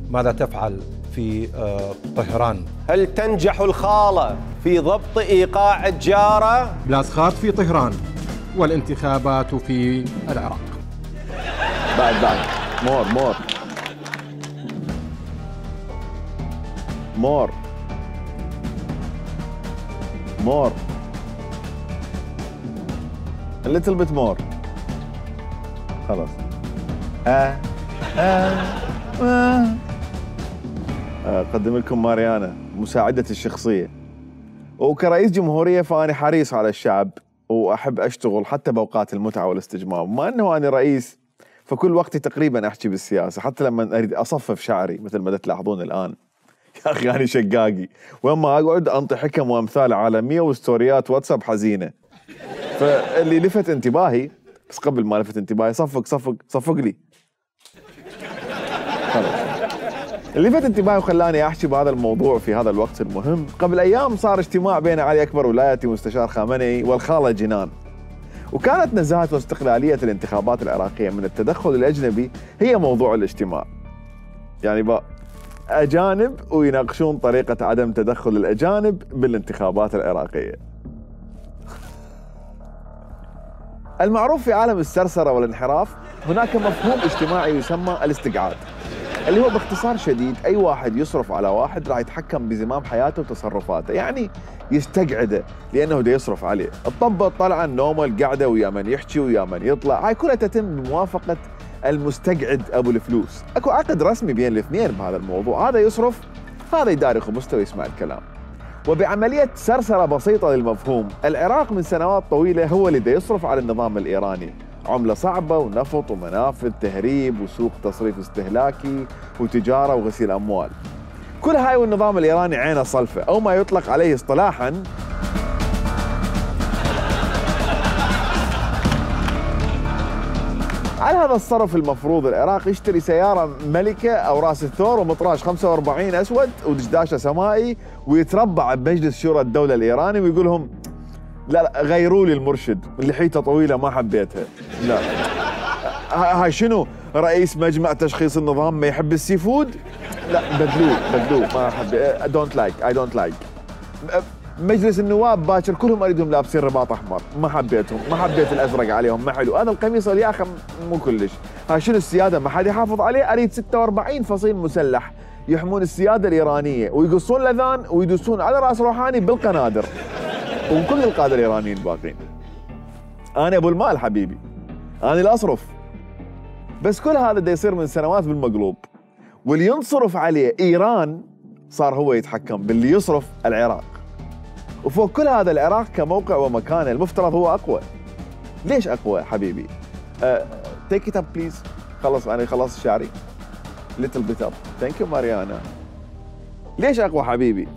ماذا تفعل في طهران؟ هل تنجح الخالة في ضبط إيقاع الجارة؟ بلاسخارت في طهران والانتخابات في العراق. بعد بعد مور مور مور مور a little bit more خلاص. آه آه آه أقدم لكم ماريانا مساعدتي الشخصية، وكرئيس جمهورية فأنا حريص على الشعب وأحب أشتغل حتى بأوقات المتعة والاستجمام. ما أنه أنا رئيس فكل وقتي تقريبا أحكي بالسياسة، حتى لما أريد أصفف شعري مثل ما تلاحظون الآن. يا أخي أنا شقاقي وأما أقعد أنطي حكم وأمثال عالمية وستوريات واتساب حزينة. فاللي لفت انتباهي بس قبل ما لفت انتباهي صفق صفق صفق لي. خلاص. اللي لفت انتباهي وخلاني احكي بهذا الموضوع في هذا الوقت المهم، قبل ايام صار اجتماع بين علي اكبر ولايتي مستشار خامنئي والخاله جنان. وكانت نزاهة واستقلالية الانتخابات العراقية من التدخل الأجنبي هي موضوع الاجتماع. يعني بقى أجانب ويناقشون طريقة عدم تدخل الأجانب بالانتخابات العراقية. المعروف في عالم السرسرة والانحراف هناك مفهوم اجتماعي يسمى الاستقعاد، اللي هو باختصار شديد أي واحد يصرف على واحد راح يتحكم بزمام حياته وتصرفاته، يعني يستقعده لأنه دا يصرف عليه. الطبة طلعا نومه القعدة ويا من يحكي ويا من يطلع، هاي كلها تتم بموافقة المستقعد أبو الفلوس. أكو عقد رسمي بين الاثنين بهذا الموضوع، هذا يصرف هذا يداري خبزته ويسمع الكلام. وبعملية سرسرة بسيطة للمفهوم، العراق من سنوات طويلة هو اللي دا يصرف على النظام الإيراني، عملة صعبة ونفط ومنافذ تهريب وسوق تصريف استهلاكي وتجارة وغسيل أموال. كل هاي والنظام الإيراني عينه صلفة، أو ما يطلق عليه اصطلاحاً على هذا الصرف المفروض العراق يشتري سيارة ملكة أو راس الثور ومطراش خمسة وأربعين أسود ودشداشة سمائي ويتربع بمجلس شورى الدولة الإيراني ويقول لهم لا لا غيروا لي المرشد اللي حيته طويلة ما حبيتها. لا هاي شنو رئيس مجمع تشخيص النظام ما يحب السي فود؟ لا بدلوه بدلوه ما أحب. دونت لايك اي دونت لايك. مجلس النواب باكر كلهم اريدهم لابسين رباط احمر، ما حبيتهم، ما حبيت الازرق عليهم، ما حلو، هذا القميص الياخه مو كلش. هاي شنو السياده ما حد يحافظ عليه؟ اريد ستة وأربعين فصيل مسلح يحمون السياده الايرانيه ويقصون الاذان ويدوسون على راس روحاني بالقنادر وكل القاده الايرانيين الباقين. انا ابو المال حبيبي، انا اللي اصرف. بس كل هذا دا يصير من سنوات بالمقلوب، واللي ينصرف عليه ايران صار هو يتحكم باللي يصرف العراق. وفوق كل هذا العراق كموقع ومكانه المفترض هو اقوى. ليش اقوى حبيبي؟ تيك ات اب بليز. خلص انا خلصت شعري. ليتل بيت اب. ثانك يو ماريانا. ليش اقوى حبيبي؟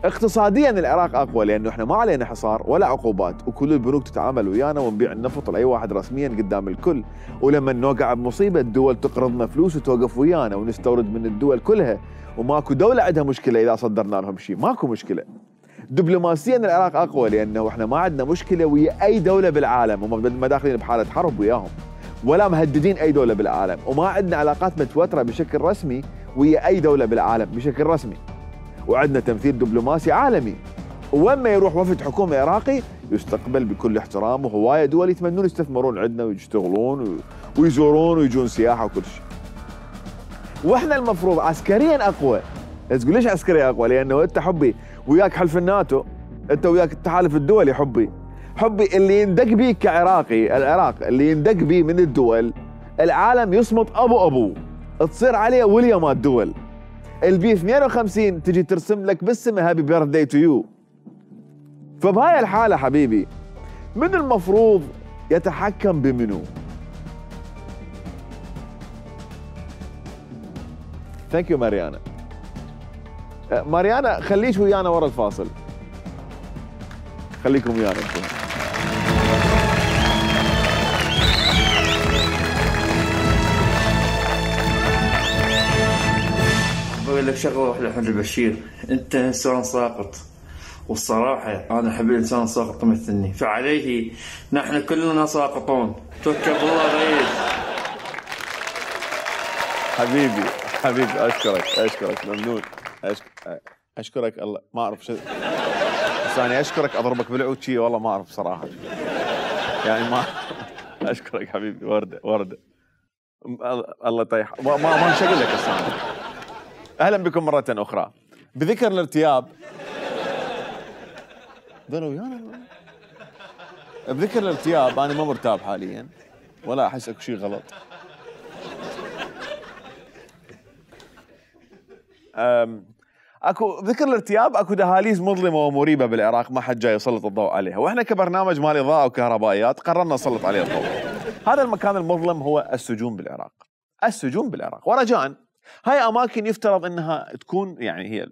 اقتصاديا العراق اقوى لانه احنا ما علينا حصار ولا عقوبات، وكل البنوك تتعامل ويانا ونبيع النفط لاي واحد رسميا قدام الكل، ولما نوقع بمصيبه الدول تقرضنا فلوس وتوقف ويانا ونستورد من الدول كلها، وماكو دوله عندها مشكله اذا صدرنا لهم شيء، ماكو مشكله. دبلوماسيا العراق اقوى لانه احنا ما عندنا مشكله ويا اي دوله بالعالم، وما داخلين بحاله حرب وياهم ولا مهددين اي دوله بالعالم، وما عندنا علاقات متوتره بشكل رسمي ويا اي دوله بالعالم بشكل رسمي، وعندنا تمثيل دبلوماسي عالمي، وين ما يروح وفد حكومه عراقي يستقبل بكل احترام، وهوايه دول يتمنون يستثمرون عندنا ويشتغلون ويزورون ويجون سياحه وكل شيء. واحنا المفروض عسكريا اقوى. تقول ليش عسكريا اقوى؟ لانه انت حبي وياك حلف الناتو، انت وياك التحالف الدولي حبي، حبي اللي يندق بيك كعراقي، العراق اللي يندق بيه من الدول العالم يصمت ابو ابو، تصير عليه وليمات دول. البي اثنين وخمسين تجي ترسم لك بالسمه هابي بيرثداي تو يو. فبهاي الحاله حبيبي من المفروض يتحكم بمنو؟ ثانك يو ماريانا. ماريانا خليش ويانا ورا الفاصل. خليكم ويانا انتم. بقول لك شغله واحده احمد البشير، انت انسان ساقط، والصراحه انا احب الانسان الساقط مثلني، فعليه نحن كلنا ساقطون. توكل الله رئيس. حبيبي حبيبي اشكرك اشكرك ممنون. أشك... اشكرك الله ما اعرف شو بس انا اشكرك اضربك بالعود شي والله ما اعرف صراحه يعني ما اشكرك حبيبي. ورده ورده الله يطيح ما ما نشغل لك الصراحه. اهلا بكم مره اخرى. بذكر الارتياب ذلوا ويانا. بذكر الارتياب انا ما مرتاب حاليا ولا احس اكو شيء غلط. أم اكو ذكر الارتياب، اكو دهاليز مظلمه ومريبه بالعراق ما حد جاي يسلط الضوء عليها، واحنا كبرنامج مال اضاءه وكهربائيات قررنا نسلط عليه الضوء. هذا المكان المظلم هو السجون بالعراق. السجون بالعراق. ورجاء هاي اماكن يفترض انها تكون يعني هي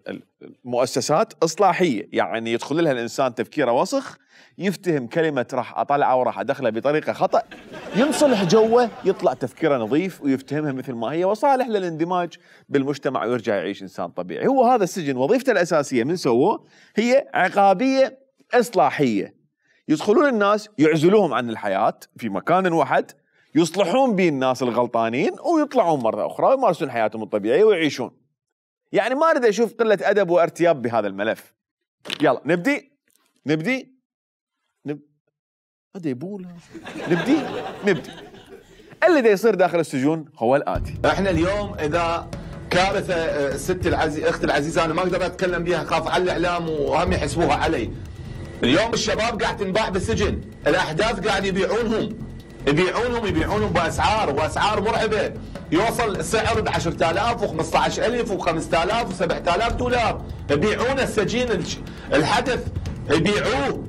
المؤسسات اصلاحيه، يعني يدخل لها الانسان تفكيره وسخ، يفتهم كلمه راح اطلعه وراح ادخله بطريقه خطا، ينصلح جوه، يطلع تفكيره نظيف ويفتهمها مثل ما هي وصالح للاندماج بالمجتمع ويرجع يعيش انسان طبيعي. هو هذا السجن وظيفته الاساسيه من سووه هي عقابيه اصلاحيه، يدخلون الناس يعزلوهم عن الحياه في مكان واحد، يصلحون به الناس الغلطانين ويطلعون مرة أخرى ويمارسون حياتهم الطبيعية ويعيشون. يعني ما أريد أشوف قلة أدب وارتياب بهذا الملف. يلا نبدي نبدي نب... هذا يبولا نبدي نبدي اللي دا يصير داخل السجون هو الآتي. احنا اليوم إذا كارثة الست العزيزة أختي العزيزة أنا ما أقدر أتكلم بها، خاف على الإعلام وهم يحسبوها علي. اليوم الشباب قاعد تنباع بالسجن، الأحداث قاعد يبيعونهم يبيعونهم يبيعونهم باسعار واسعار مرعبه، يوصل السعر ب عشرة آلاف و15 ألف و5000 و7000 دولار، يبيعون السجين الحدث يبيعوه.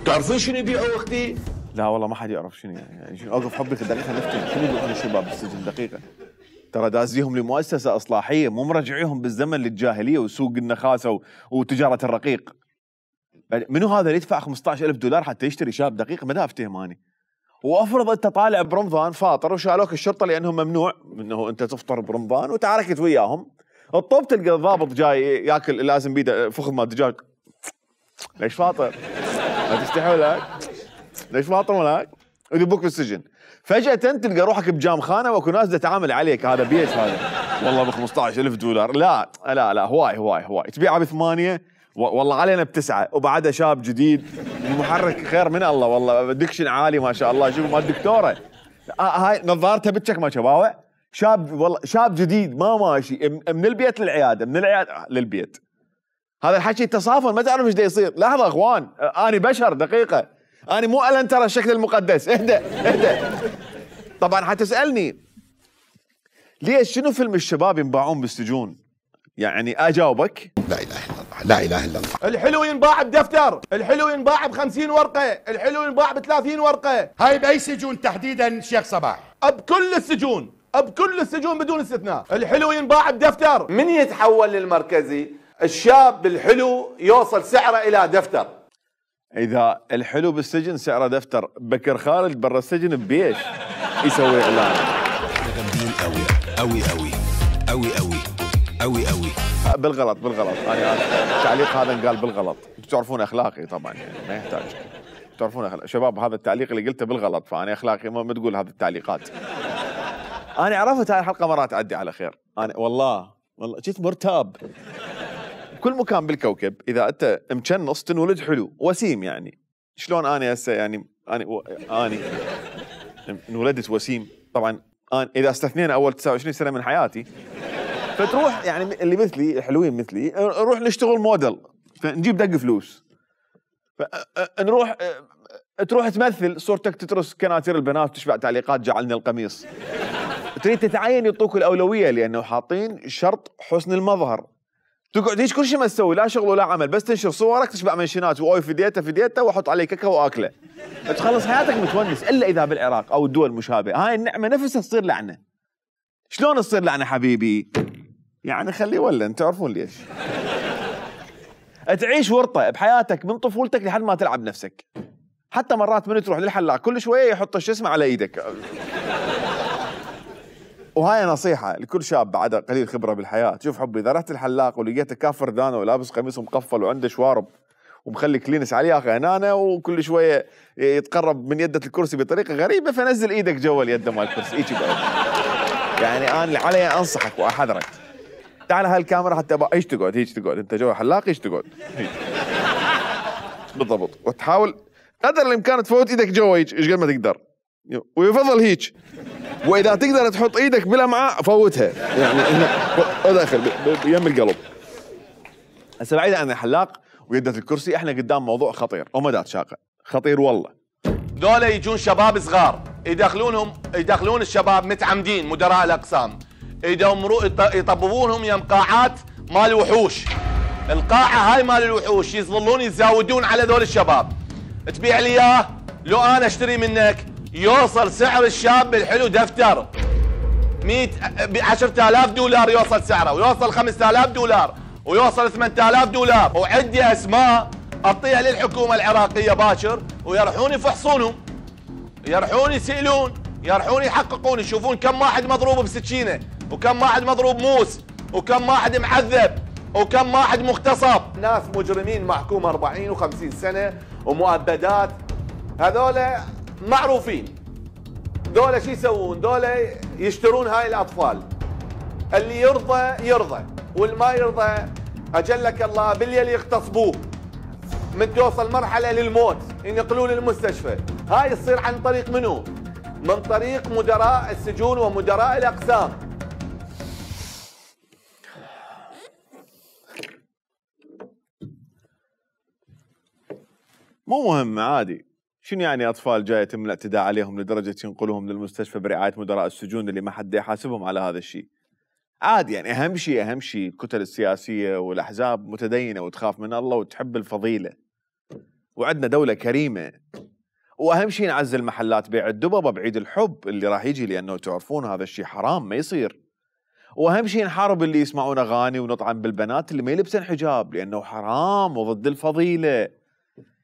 تعرفين شنو يبيعوه اختي؟ لا والله ما حد يعرف شنو يعني شنو. اوقف حبك دقيقه نفتي شنو يبيعون الشباب بالسجن دقيقه. ترى دازيهم لمؤسسه اصلاحيه، مو مرجعيهم بالزمن للجاهليه وسوق النخاسه وتجاره الرقيق. منو هذا اللي يدفع خمسطعش ألف دولار حتى يشتري شاب دقيقه؟ ما دا افتهم اني. وافرض انت طالع برمضان فاطر وشالوك الشرطه لانه ممنوع انه انت تفطر برمضان وتعاركت وياهم، الطوب تلقى الضابط جاي ياكل لازم بيده فخذ مال دجاج. ليش فاطر؟ ما تستحي ولاك؟ ليش فاطر ولاك؟ ويذبوك بالسجن. فجأة تلقى روحك بجام خانه واكو ناس تتعامل عليك، هذا بيش هذا والله ب خمسطعش ألف دولار. لا لا لا هواي هواي هواي تبيعها بثمانيه والله علينا بتسعه وبعدها شاب جديد المحرك خير من الله والله دكشن عالي ما شاء الله. شوف مال الدكتوره آه هاي نظارته بتشك ما شباوع، شاب والله شاب جديد ما ماشي من البيت للعياده من العياده للبيت. هذا الحكي تصافن ما تعرف ايش دا يصير. لحظه اخوان انا بشر دقيقه، انا مو الن ترى الشكل المقدس. اهدى اهدى. طبعا حتسالني ليش شنو فيلم الشباب ينباعون بالسجون؟ يعني اجاوبك لا اله الا الله لا اله الا الله. الحلو ينباع بدفتر، الحلو ينباع بخمسين ورقه، الحلو ينباع بثلاثين ورقه. هاي باي سجون تحديدا شيخ صباح؟ بكل السجون بكل السجون بدون استثناء الحلو ينباع بدفتر. من يتحول للمركزي الشاب الحلو يوصل سعره الى دفتر. اذا الحلو بالسجن سعره دفتر، بكر خالد برا السجن ببيش يسوي اعلان. جامدين قوي قوي قوي قوي قوي قوي قوي بالغلط بالغلط انا التعليق هذا انقال بالغلط. انتم تعرفون اخلاقي طبعا يعني ما يحتاج. تعرفون أخلاق. شباب هذا التعليق اللي قلته بالغلط، فانا اخلاقي ما تقول هذه التعليقات. انا عرفت هاي الحلقه مرات تعدي على خير. انا والله والله جيت مرتاب. كل مكان بالكوكب اذا انت مكنص تنولد حلو وسيم. يعني شلون انا هسه يعني انا و... اني انولدت وسيم طبعا. أنا اذا استثنينا اول تسعة وعشرين سنه من حياتي فتروح يعني اللي مثلي حلوين مثلي نروح نشتغل موديل فنجيب دق فلوس، نروح تروح تمثل صورتك تترس كناتير البنات وتشبع تعليقات جعلني القميص. تريد تتعين يعطوك الاولويه لانه حاطين شرط حسن المظهر. تقعد هيك كل شيء ما تسوي لا شغل ولا عمل، بس تنشر صورك تشبع منشنات واوي في ديته في ديته واحط عليه ككه واكله. تخلص حياتك متونس الا اذا بالعراق او الدول المشابهه هاي النعمه نفسها تصير لعنه. شلون تصير لعنه حبيبي؟ يعني خليه ولا انت تعرفون ليش. تعيش ورطه بحياتك من طفولتك لحد ما تلعب نفسك. حتى مرات من تروح للحلاق كل شويه يحط شو اسمه على ايدك. وهاي نصيحه لكل شاب بعد قليل خبره بالحياه. شوف حبي اذا رحت الحلاق ولقيته كافر دانه ولابس قميص مقفل وعنده شوارب ومخلي كلينس عليه اخي هنانه وكل شويه يتقرب من يده الكرسي بطريقه غريبه فنزل ايدك جوا اليد مال الكرسي هيك يقعد. يعني انا علي انصحك واحذرك. تعال هالكاميرا حتى ايش تقعد هيك تقعد انت جوا حلاق ايش تقعد هيك بالضبط وتحاول قدر الامكان تفوت ايدك جوا هيك ايش قد ما تقدر ويفضل هيك. واذا تقدر تحط ايدك بالامعاء فوتها يعني هنا داخل يم القلب. هسه بعيد عن الحلاق ويده الكرسي احنا قدام موضوع خطير ومدات شاقه خطير والله. دول يجون شباب صغار يدخلونهم يدخلون الشباب متعمدين مدراء الاقسام يدمروا يطببونهم يم قاعات مال وحوش. القاعه هاي مال الوحوش يظلون يزاودون على ذول الشباب. تبيع لي اياه لو انا اشتري منك يوصل سعر الشاب الحلو دفتر. مئة ب عشرة آلاف دولار يوصل سعره، ويوصل خمسة آلاف دولار، ويوصل ثمانية آلاف دولار، وعندي اسماء اعطيها للحكومه العراقيه باكر ويروحون يفحصونهم، يروحون يسالون، يروحون يحققون، يشوفون كم واحد مضروب بسكينه، وكم واحد مضروب موس، وكم واحد معذب، وكم واحد مغتصب. ناس مجرمين محكوم أربعين وخمسين سنه ومؤبدات، هذولا معروفين. دولة شو يسوون؟ دولة يشترون هاي الاطفال. اللي يرضى يرضى، واللي ما يرضى اجلك الله بالليل يغتصبوه. من توصل مرحلة للموت ينقلوه للمستشفى. هاي تصير عن طريق منو؟ من طريق مدراء السجون ومدراء الاقسام. مو مهم عادي. شنو يعني اطفال جايه يتم الاعتداء عليهم لدرجه ينقلوهم للمستشفى برعايه مدراء السجون اللي ما حد يحاسبهم على هذا الشيء؟ عادي يعني. اهم شيء اهم شيء الكتل السياسيه والاحزاب متدينه وتخاف من الله وتحب الفضيله. وعندنا دوله كريمه. واهم شيء نعزل محلات بيع الدببه بعيد الحب اللي راح يجي، لانه تعرفون هذا الشيء حرام ما يصير. واهم شيء نحارب اللي يسمعون اغاني ونطعن بالبنات اللي ما يلبسن حجاب، لانه حرام وضد الفضيله.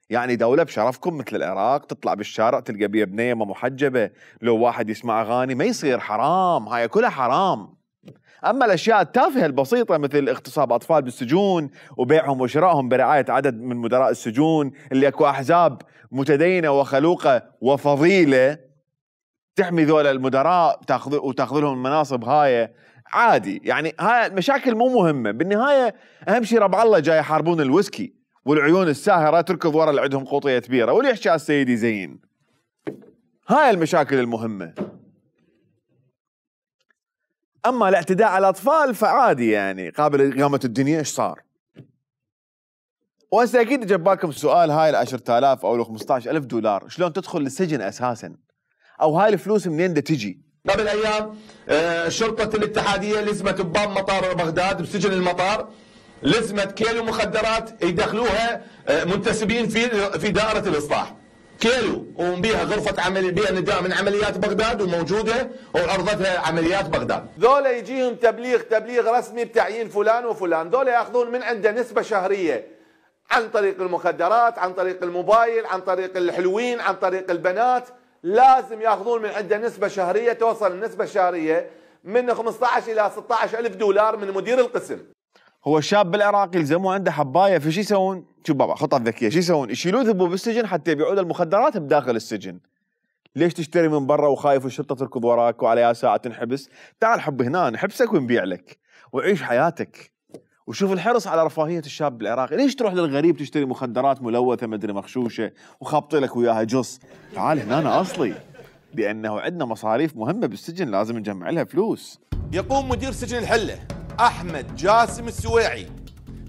يعني دولة بشرفكم مثل العراق تطلع بالشارع تلقى بيها بنية ما محجبة، لو واحد يسمع أغاني ما يصير، حرام، هاي كلها حرام. أما الأشياء التافهة البسيطة مثل اغتصاب أطفال بالسجون وبيعهم وشرائهم برعاية عدد من مدراء السجون اللي أكو أحزاب متدينة وخلوقة وفضيلة تحمي ذولا المدراء تاخذ وتاخذ لهم المناصب، هاي عادي. يعني هاي المشاكل مو مهمة بالنهاية. أهم شيء ربع الله جاي يحاربون الويسكي والعيون الساهرة تركض ورا اللي عندهم قوطية كبيرة واللي يحكي على السيد يزين. هاي المشاكل المهمة. أما الاعتداء على الأطفال فعادي يعني، قابل قامة الدنيا إيش صار؟ وهسه أكيد جاب بالكم السؤال، هاي ال عشرة آلاف أو ال خمسة عشر ألف دولار شلون تدخل للسجن أساساً؟ أو هاي الفلوس منين دا تجي؟ قبل أيام آه شرطة الاتحادية لزمت بباب مطار بغداد بسجن المطار، لزمت كيلو مخدرات يدخلوها منتسبين في في دائرة الإصلاح. كيلو وبيها غرفة عمل بيها نداء من عمليات بغداد وموجودة وعرضتها عمليات بغداد. ذولا يجيهم تبليغ تبليغ رسمي بتعيين فلان وفلان، ذولا ياخذون من عنده نسبة شهرية عن طريق المخدرات، عن طريق الموبايل، عن طريق الحلوين، عن طريق البنات. لازم ياخذون من عنده نسبة شهرية، توصل النسبة الشهرية من خمسة عشر إلى ستة عشر ألف دولار من مدير القسم. هو الشاب بالعراق يلزموا عنده حبايه، فشي يسوون؟ شوف بابا خطه ذكيه، شو يسوون؟ يشيلوه ذبوا بالسجن حتى يبيعون المخدرات بداخل السجن. ليش تشتري من برا وخايف الشرطه تركض وراك وعليها ساعه تنحبس؟ تعال حب هنا نحبسك ونبيع لك وعيش حياتك. وشوف الحرص على رفاهيه الشاب العراقي، ليش تروح للغريب تشتري مخدرات ملوثه مدري مغشوشه وخابط لك وياها جص؟ تعال هنا أنا اصلي، لانه عندنا مصاريف مهمه بالسجن لازم نجمع لها فلوس. يقوم مدير سجن الحله أحمد جاسم السويعي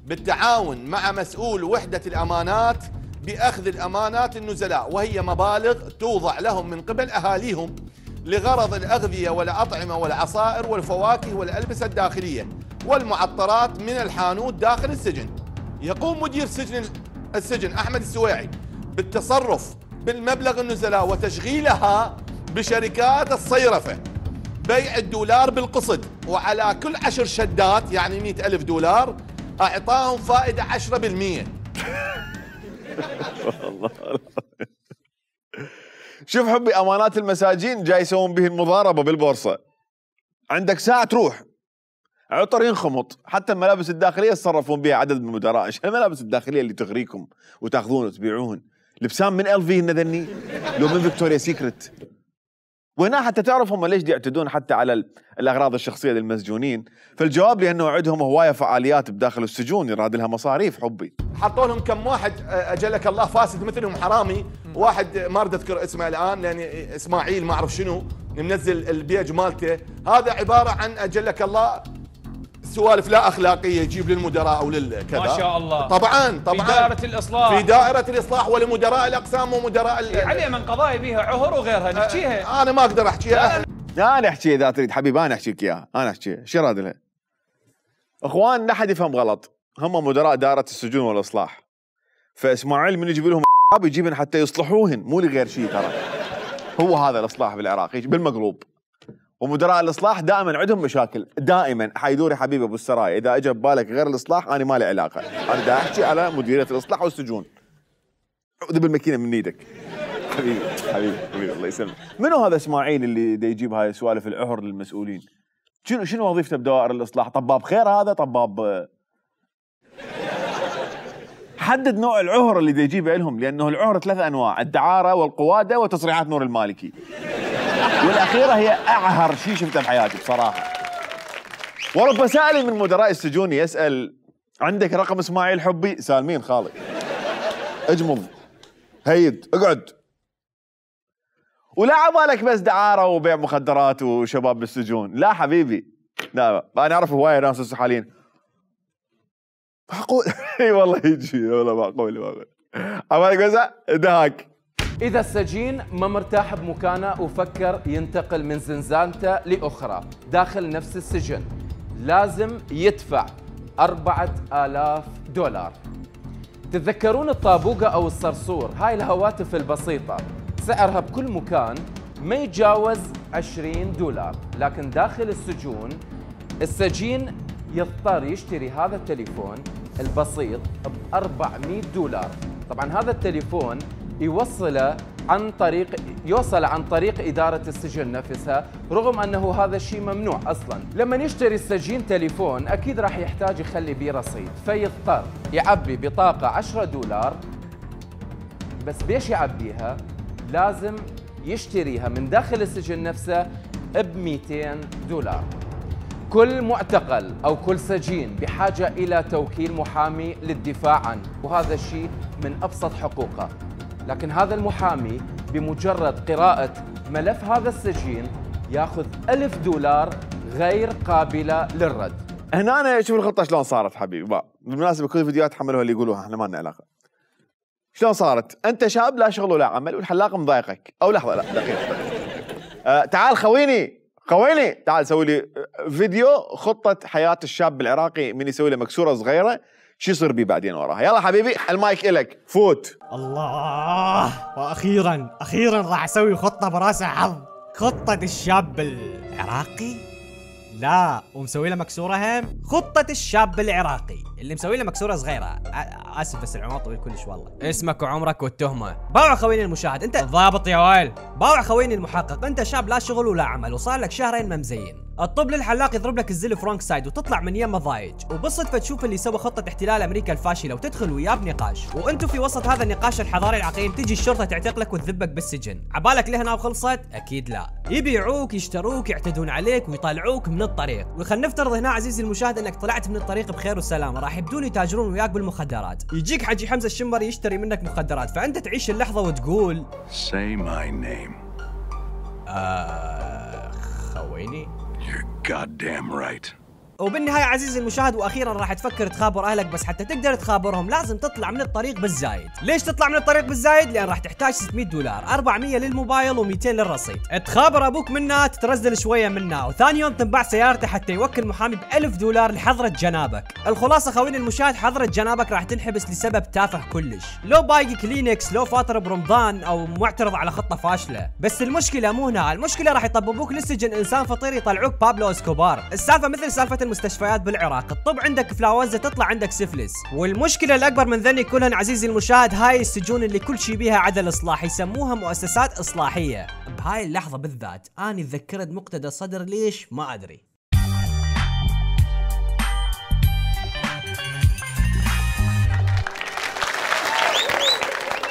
بالتعاون مع مسؤول وحدة الأمانات بأخذ الأمانات النزلاء، وهي مبالغ توضع لهم من قبل أهاليهم لغرض الأغذية والأطعمة والعصائر والفواكه والألبسة الداخلية والمعطرات من الحانوت داخل السجن. يقوم مدير سجن السجن أحمد السويعي بالتصرف بالمبلغ النزلاء وتشغيلها بشركات الصيرفة، بيع الدولار بالقسط، وعلى كل عشر شدات يعني مئة ألف دولار أعطاهم فائدة عشرة بالمئة. شوف حبي أمانات المساجين جاي يسوون به المضاربة بالبورصة. عندك ساعة تروح عطر ينخمط، حتى الملابس الداخلية تصرفون بها عدد من المدراء. ايش الملابس الداخلية اللي تغريكم وتاخذون وتبيعون؟ لبسان من ال في ذني لو من فيكتوريا سيكريت. وهنا حتى تعرف هم ليش يعتدون حتى على الأغراض الشخصية للمسجونين. فالجواب لأنه عندهم هواية فعاليات بداخل السجون يراد لها مصاريف حبي. حطوا لهم كم واحد أجلك الله فاسد مثلهم حرامي، واحد ما أريد أذكر اسمه الآن لأن إسماعيل ما أعرف شنو منزل البيج مالته، هذا عبارة عن أجلك الله سوالف لا أخلاقية يجيب للمدراء أو للكذا. ما شاء الله. طبعا طبعا في دائرة الإصلاح، في دائرة الإصلاح ولمدراء الأقسام ومدراء ال... عليه من قضايا بها عهر وغيرها نحكيها. أنا ما أقدر أحكيها. لا أنا أحكي إذا تريد حبيبي، أنا أحكيك إياها، أنا أحكيها. شو راد لها؟ إخوان لا حد يفهم غلط، هم مدراء دائرة السجون والإصلاح. فإسماعيل من يجيب لهم يجيبن حتى يصلحوهن، مو لغير شيء ترى. هو هذا الإصلاح بالعراق بالمقلوب. ومدراء الاصلاح دائما عندهم مشاكل، دائما حيدور يا حبيبي ابو السرايا، اذا اجى ببالك غير الاصلاح انا ما لي علاقه، انا دا احكي على مديريه الاصلاح والسجون. عقد بالماكينه من ايدك. حبيبي حبيبي حبيبي الله يسلمك. منو هذا اسماعيل اللي دا يجيب هاي سوالف العهر للمسؤولين؟ شنو شنو وظيفته بدوائر الاصلاح؟ طباب خير هذا؟ طباب حدد نوع العهر اللي دا يجيبه لهم، لانه العهر ثلاث انواع، الدعاره والقواده وتصريحات نور المالكي. والاخيره هي اعهر شيء شفته بحياتي بصراحه. ورب سائل من مدراء السجون يسال عندك رقم اسماعيل حبي؟ سالمين خالي. اجمض هيد اقعد. ولا عبالك بس دعاره وبيع مخدرات وشباب بالسجون، لا حبيبي، لا انا اعرف هوايه ناس هسه حاليا. معقول؟ اي والله يجي، والله معقول معقول. عبالك بس دهاك. إذا السجين ما مرتاح بمكانه وفكر ينتقل من زنزانته لأخرى داخل نفس السجن، لازم يدفع أربعة آلاف دولار. تتذكرون الطابوقة أو الصرصور؟ هاي الهواتف البسيطة سعرها بكل مكان ما يتجاوز عشرين دولار، لكن داخل السجون السجين يضطر يشتري هذا التليفون البسيط ب أربعمئة دولار. طبعا هذا التليفون يوصله عن طريق يوصل عن طريق إدارة السجن نفسها، رغم أنه هذا الشيء ممنوع أصلاً. لما يشتري السجين تليفون أكيد راح يحتاج يخلي بيه رصيد، فيضطر يعبي بطاقة عشرة دولار بس. بيش يعبيها؟ لازم يشتريها من داخل السجن نفسه ب مئتين دولار. كل معتقل أو كل سجين بحاجة إلى توكيل محامي للدفاع عنه، وهذا الشيء من أبسط حقوقه. لكن هذا المحامي بمجرد قراءة ملف هذا السجين ياخذ ألف دولار غير قابلة للرد. هنا أنا شوف الخطة شلون صارت حبيبي. بقى بالمناسبة كل الفيديوهات حملوها اللي يقولوها احنا ما لنا علاقة. شلون صارت؟ أنت شاب لا شغل ولا عمل والحلاق مضايقك، أو لحظة لا دقيقة. أه تعال خويني خويني تعال سوي لي فيديو خطة حياة الشاب العراقي من يسوي له مكسورة صغيرة شو يصير بيه بعدين وراها. يلا حبيبي المايك إلك، فوت. الله، واخيرا اخيرا راح اسوي خطه براسها حظ. خطه الشاب العراقي؟ لا، ومسوي له مكسوره هم. خطه الشاب العراقي اللي مسوي له مكسوره صغيره. اسف بس العنوان طويل كلش والله. اسمك وعمرك والتهمه. باوع خويني المشاهد، انت ضابط يا ويل. باوع خويني المحقق، انت شاب لا شغل ولا عمل وصار لك شهرين ما مزين. الطب للحلاق يضرب لك الزل فرانك سايد وتطلع من يمه ضايج، وبالصدفه تشوف اللي سوى خطه احتلال امريكا الفاشله وتدخل وياه بنقاش، وانتم في وسط هذا النقاش الحضاري العقيم تجي الشرطه تعتقلك وتذبك بالسجن. عبالك لهنا وخلصت؟ اكيد لا. يبيعوك يشتروك يعتدون عليك ويطلعوك من الطريق. وخلينا نفترض هنا عزيزي المشاهد انك طلعت من الطريق بخير وسلامه، راح يبدون يتاجرون وياك بالمخدرات. يجيك حجي حمزه الشمري يشتري منك مخدرات، فانت تعيش اللحظه وتقول Say my name. آه خويني. You're goddamn right. وبالنهاية عزيزي المشاهد واخيرا راح تفكر تخابر اهلك، بس حتى تقدر تخابرهم لازم تطلع من الطريق بالزايد. ليش تطلع من الطريق بالزايد؟ لان راح تحتاج ستمئة دولار، أربعمئة للموبايل و200 للرصيد. تخابر ابوك منها تترزل شويه منها، وثاني يوم تنباع سيارته حتى يوكل محامي ب ألف دولار لحضره جنابك. الخلاصه خويني المشاهد، حضره جنابك راح تنحبس لسبب تافه كلش، لو باقي كلينكس، لو فاطر برمضان، او معترض على خطه فاشله. بس المشكله مو هنا، المشكله راح يطببوك للسجن انسان فطير يطلعوك بابلو اسكوبار. السالفه مثل سالفه المستشفيات بالعراق، الطب عندك فلاوزة تطلع عندك سفلس. والمشكلة الأكبر من ذني كلهن عزيزي المشاهد، هاي السجون اللي كل شي بيها عدل إصلاح، يسموها مؤسسات إصلاحية. بهاي اللحظة بالذات أنا تذكرت مقتدى صدر، ليش ما أدري.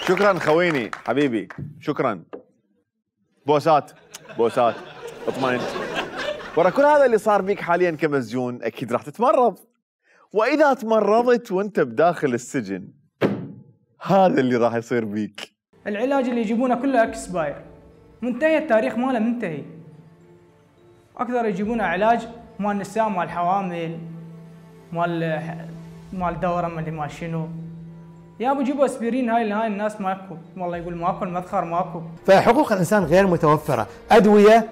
شكرا خويني حبيبي، شكرا. بوسات بوسات اطمئن. ورا كل هذا اللي صار بيك حاليا كمسجون اكيد راح تتمرض، واذا تمرضت وانت بداخل السجن هذا اللي راح يصير بيك. العلاج اللي يجيبونه كله اكسباير، منتهي التاريخ ماله منتهي. اكثر يجيبونه علاج مال النساء، مال الحوامل، مال مال دوره، مال ما شنو. يا ابو جيبوا اسبرين. هاي هاي الناس ماكو، والله يقول ماكو، المدخر ماكو. فحقوق الانسان غير متوفره، ادويه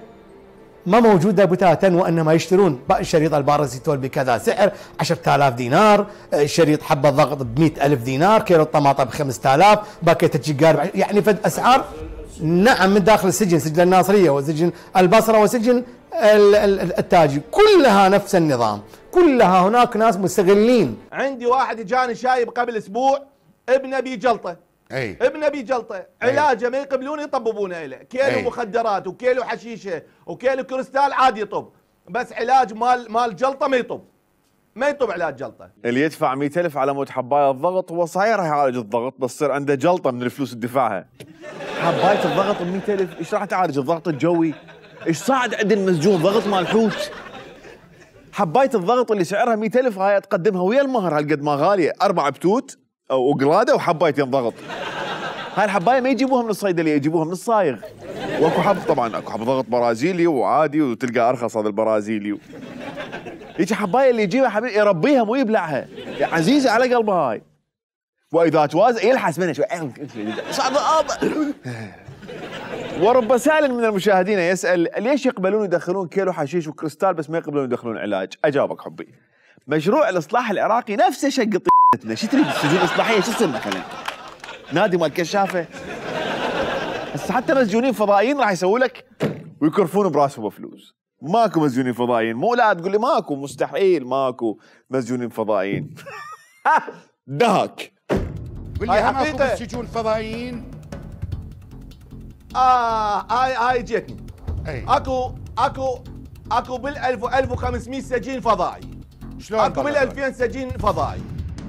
ما موجوده بتاتا، وانما يشترون شريط الباراسيتول بكذا سعر عشرة آلاف دينار، شريط حبه ضغط ب مئة ألف دينار، كيلو الطماطم ب خمسة آلاف، باكيت السجار، يعني فد اسعار. نعم من داخل السجن، سجن الناصريه وسجن البصره وسجن التاجر، كلها نفس النظام، كلها هناك ناس مستغلين. عندي واحد اجاني شايب قبل اسبوع، ابنه بجلطه، اي ابنه بجلطه، علاجه ما يقبلون يطببونه له، كيلو أي. مخدرات وكيلو حشيشه وكيلو كريستال عادي يطب، بس علاج مال مال جلطه ما يطب، ما يطب علاج جلطه. اللي يدفع مئة ألف على مود حبايه الضغط هو صحيح راح يعالج الضغط، بس تصير عنده جلطه من الفلوس اللي دفعها. حبايه الضغط ب مئة ألف، ايش راح تعالج الضغط الجوي؟ ايش صعد عند المسجون ضغط مال حوت؟ حبايه الضغط اللي سعرها مئة ألف هاي تقدمها ويا المهر هالقد ما غاليه، اربع بتوت وقلاده وحبايتين ضغط. هاي الحبايه ما يجيبوها من الصيدليه، يجيبوها من الصايغ. واكو حب طبعا، اكو حب ضغط برازيلي وعادي وتلقى ارخص هذا البرازيلي. هيك حبايه اللي يجيبها حبيبي يربيها مو يبلعها، عزيزه على قلبها هاي. واذا توازن يلحس منها شوي. ورب سائل من المشاهدين يسال ليش يقبلون يدخلون كيلو حشيش وكريستال بس ما يقبلون يدخلون علاج؟ اجابك حبي. مشروع الاصلاح العراقي نفسه شق طيتنا، شو تريد السجون الاصلاحيه شو تصير مثلا؟ نادي مال كشافه؟ هسه حتى مسجونين فضائيين راح يسووا لك ويكرفون براسهم فلوس. ماكو مسجونين فضائيين، مو لا تقول لي ماكو، مستحيل ماكو مسجونين فضائيين. دهك قول لي ماكو بالسجون فضائيين؟ اه هاي هاي جتني. اكو اكو اكو بالألف وألف وخمسمئة سجين فضائي. شلون؟ اكو بالألفين سجين فضائي.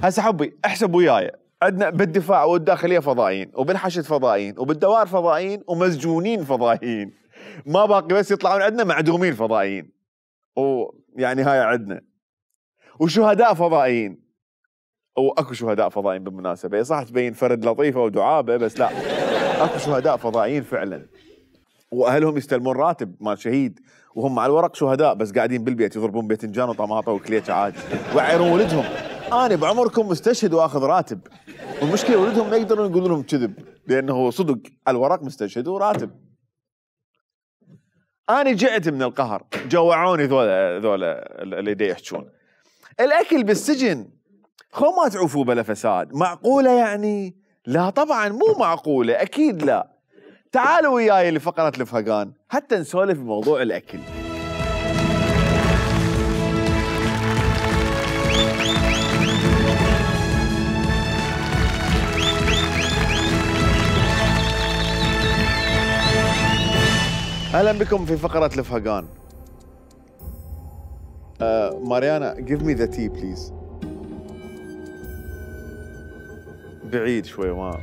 هسه حبي احسب وياي، عندنا بالدفاع والداخليه فضائيين، وبالحشد فضائيين، وبالدوائر فضائيين، ومسجونين فضائيين. ما باقي بس يطلعون عندنا معدومين فضائيين. ويعني هاي عندنا. وشهداء فضائيين. واكو شهداء فضائيين بالمناسبه، صح تبين فرد لطيفه ودعابه بس لا. اكو شهداء فضائيين فعلا. واهلهم يستلمون راتب مال شهيد، وهم على الورق شهداء بس قاعدين بالبيت يضربون باذنجان وطماطه وكليتش عادي، ويعيرون ولدهم. انا بعمركم مستشهد واخذ راتب. والمشكله ولدهم ما يقدرون يقولون لهم كذب، لانه صدق على الورق مستشهد وراتب. انا جعت من القهر، جوعوني ذولا ذولا اللي دا يحجون. الاكل بالسجن خو ما تعوفوا بلا فساد، معقوله يعني؟ لا طبعا مو معقوله، اكيد لا. تعالوا وياي لفقره الفهقان حتى نسولف بموضوع الاكل. اهلا بكم في فقره الفهقان. uh, ماريانا give me the tea please. بعيد شوي ما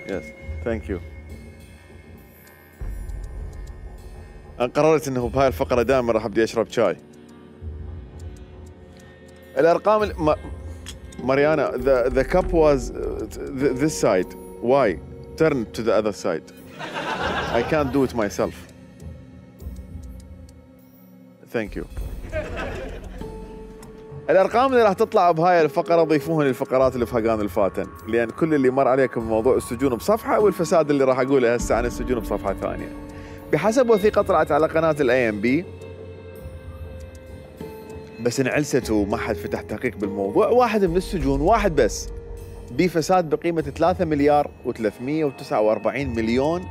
يس ثانك يو. انا قررت انه بهاي الفقره دائما راح ابدي اشرب شاي. الارقام ال... ما... ماريانا the the cup was uh, this side. Why? Turn to the other side. I can't do it myself. Thank you. الارقام اللي راح تطلع بهاي الفقره ضيفوها للفقرات الفهقان الفاتن، لان كل اللي مر عليكم موضوع السجون بصفحه، والفساد اللي راح اقوله هسه عن السجون بصفحه ثانيه. بحسب وثيقه طلعت على قناه الاي ام بي، بس انعلست وما حد فتح تحقيق بالموضوع، واحد من السجون واحد بس بفساد بقيمه ثلاثة مليار وثلاثمئة وتسعة وأربعين مليون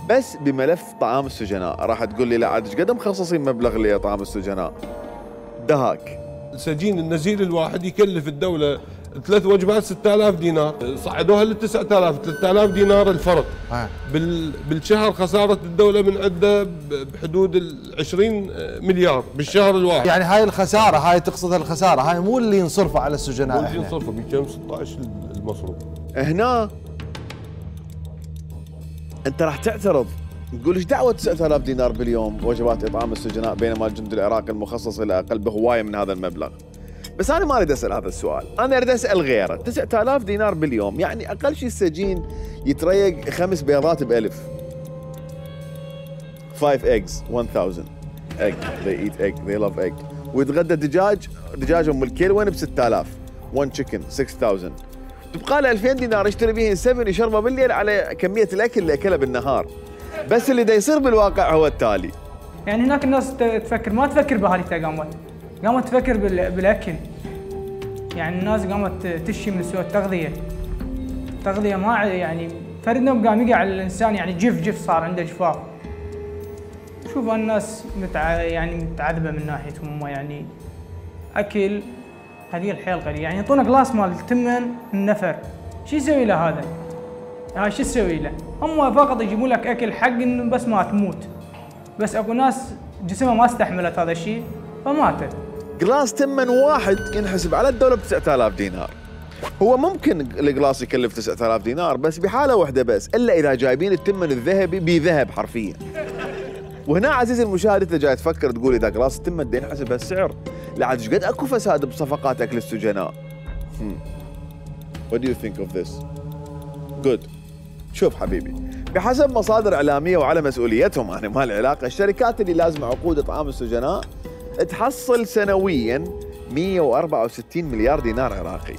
بس بملف طعام السجناء. راح تقول لي لا عاد ايش قد مخصصين مبلغ لطعام السجناء؟ دهاك. السجين النزيل الواحد يكلف الدولة ثلاث وجبات ستة آلاف دينار، صعدوها ل تسعة آلاف، ثلاثة آلاف دينار الفرق. بال بالشهر خسارة الدولة من عنده بحدود ال عشرين مليار بالشهر الواحد. يعني هاي الخسارة، هاي تقصد الخسارة، هاي مو اللي ينصرفها على السجناء. مو اللي ينصرفها، بكم ستة عشر المصروف. هنا انت راح تعترض تقول ايش دعوه تسعة آلاف دينار باليوم وجبات اطعام السجناء بينما الجند العراقي المخصص الى اقل بهوايه من هذا المبلغ. بس انا ما اريد اسال هذا السؤال، انا اريد اسال غيره. تسعة آلاف دينار باليوم يعني اقل شيء السجين يتريق خمس بيضات بألف. five eggs one thousand egg they eat egg they love egg. ويتغدى دجاج دجاج ام الكيل وين ب ستة آلاف one chicken six thousand. تبقى له ألفين دينار يشتري بهن سبن يشربه بالليل على كميه الاكل اللي اكلها بالنهار. بس اللي دا يصير بالواقع هو التالي. يعني هناك الناس تفكر ما تفكر بهاليتا، قامت قامت تفكر بالاكل. يعني الناس قامت تشي من سوء التغذيه. التغذيه ما يعني فرد نوم قام يقع على الانسان، يعني جف جف صار عنده جفاف. شوف الناس متع... يعني متعذبه من ناحيتهم هم، يعني اكل قليل حيل قليل، يعني يعطونا جلاس مال ثمن النفر، شو يسوي له هذا؟ هاي شو تسوي له؟ هم فقط يجيبوا لك اكل حق انه بس ما تموت، بس اكو ناس جسمها ما استحملت هذا الشيء فماتت. جلاس ثمن واحد ينحسب على الدولة ب تسعة آلاف دينار. هو ممكن الجلاس يكلف تسعة آلاف دينار بس بحالة واحدة بس، إلا إذا جايبين الثمن الذهبي بذهب حرفيا. وهنا عزيزي المشاهد أنت جاي تفكر تقول إذا جلاس الثمن ده ينحسب هالسعر، لعد ايش قد اكو فساد بصفقات أكل السجناء. What do you think of this? Good. شوف حبيبي، بحسب مصادر إعلامية وعلى مسؤوليتهم أنا ما العلاقة، الشركات اللي لازمة عقود إطعام السجناء تحصل سنوياً مئة وأربعة وستين مليار دينار عراقي.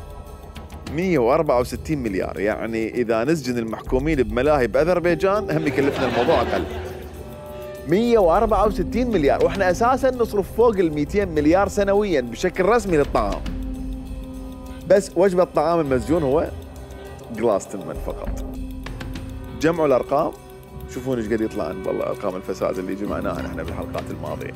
مئة وأربعة وستين مليار، يعني إذا نسجن المحكومين بملاهي بأذربيجان هم يكلفنا الموضوع أقل. مئة وأربعة وستين مليار، وإحنا أساساً نصرف فوق ال مئتين مليار سنوياً بشكل رسمي للطعام. بس وجبة طعام المسجون هو جلاس ثمن فقط. جمعوا الأرقام شوفون ايش قد يطلع عن والله أرقام الفساد اللي جمعناها نحن بالحلقات الماضية.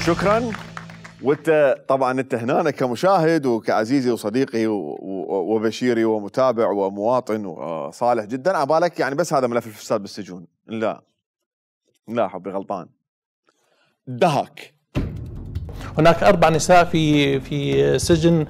شكرا. وانت طبعا انت هنا كمشاهد وكعزيزي وصديقي وبشيري ومتابع ومواطن وصالح جدا، عبالك يعني بس هذا ملف الفساد بالسجون. لا لا حبي غلطان. دهك هناك أربع نساء في في سجن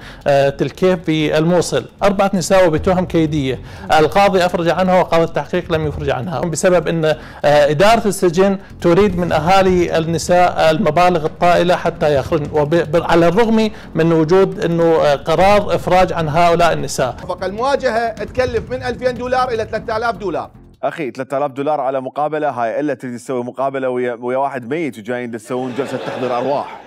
تلكيف بالموصل، أربعة نساء بتهم كيدية، القاضي أفرج عنها وقاضي التحقيق لم يفرج عنها بسبب أن إدارة السجن تريد من أهالي النساء المبالغ الطائلة حتى يخرجن، وعلى الرغم من وجود أنه قرار إفراج عن هؤلاء النساء. المواجهة تكلف من ألفين دولار إلى ثلاثة آلاف دولار. اخي ثلاثة آلاف دولار على مقابله، هاي الا تريد تسوي مقابله ويا ويا واحد ميت وجايين تسوون جلسه تحضير ارواح.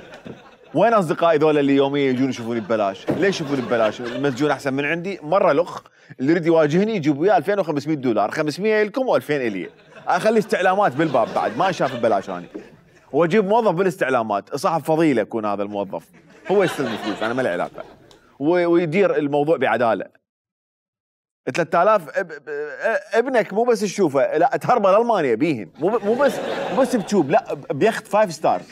وين اصدقائي ذولا اللي يوميا يجون يشوفوني ببلاش؟ ليش يشوفوني ببلاش؟ المسجون احسن من عندي، مره لخ اللي يريد يواجهني يجيب وياه ألفين وخمسمئة دولار، خمسمئة لكم وألفين الي. اخلي استعلامات بالباب بعد ما شاف ببلاش اني. واجيب موظف بالاستعلامات، صاحب فضيله يكون هذا الموظف، هو يستلم الفلوس انا ما لي علاقه. ويدير الموضوع بعداله. ثلاثة آلاف ابنك مو بس تشوفه، لا تهربه لالمانيا بيهن، مو مو بس مو بس بتشوب، لا بيخت فايف ستارز.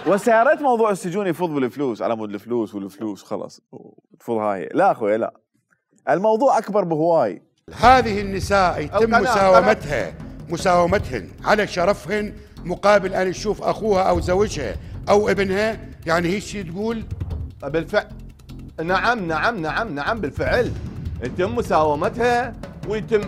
وسيارات موضوع السجون يفوض بالفلوس على مود الفلوس والفلوس خلاص تفوض هاي. لا اخوي لا، الموضوع اكبر بهواي. هذه النساء يتم مساومتها مساومتهن على شرفهن مقابل ان تشوف اخوها او زوجها او ابنها، يعني هيك شيء تقول؟ بالفعل نعم نعم نعم نعم بالفعل يتم مساومتها ويتم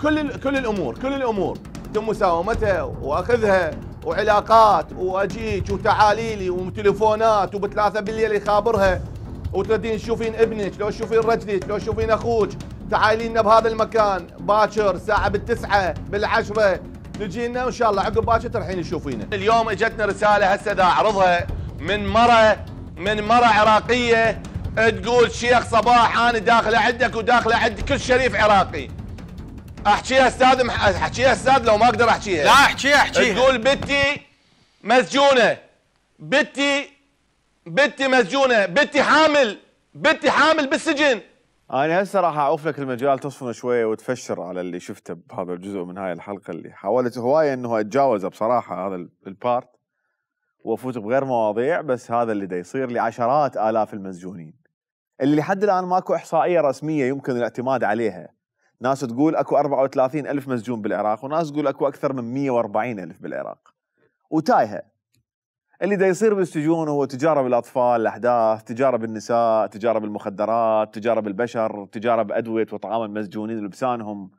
كل كل الامور كل الامور يتم مساومتها واخذها وعلاقات واجيك وتعاليلي وتليفونات وبثلاثة بالليل يخابرها وتردين تشوفين ابنك، لو تشوفين رجلك، لو تشوفين اخوك، تعالي لنا بهذا المكان باكر الساعه بالتسعة بالعشرة تجي لنا وان شاء الله عقب باكر ترحين تشوفينا. اليوم اجتنا رساله هسه دا اعرضها من مره من مره عراقيه تقول شيخ صباح انا داخله عندك وداخله عند كل شريف عراقي. احكيها استاذ مح... احكيها استاذ لو ما اقدر احكيها. لا احكيها احكيها. تقول بنتي مسجونه، بنتي بنتي مسجونه، بنتي حامل، بنتي حامل بالسجن. انا هسه راح اعوف لك المجال تصفن شويه وتفشر على اللي شفته بهذا الجزء من هاي الحلقه اللي حاولت هوايه انه اتجاوزه بصراحه هذا البارت وافوت بغير مواضيع، بس هذا اللي دا يصير لعشرات الاف المسجونين اللي لحد الان ماكو احصائيه رسميه يمكن الاعتماد عليها. ناس تقول اكو أربعة وثلاثين ألف مسجون بالعراق، وناس تقول اكو اكثر من مئة وأربعين ألف بالعراق. وتايهه. اللي دا يصير بالسجون هو تجاره بالاطفال، الاحداث، تجاره بالنساء، تجاره بالمخدرات، تجاره بالبشر، تجاره بادويه وطعام المسجونين ولبسانهم.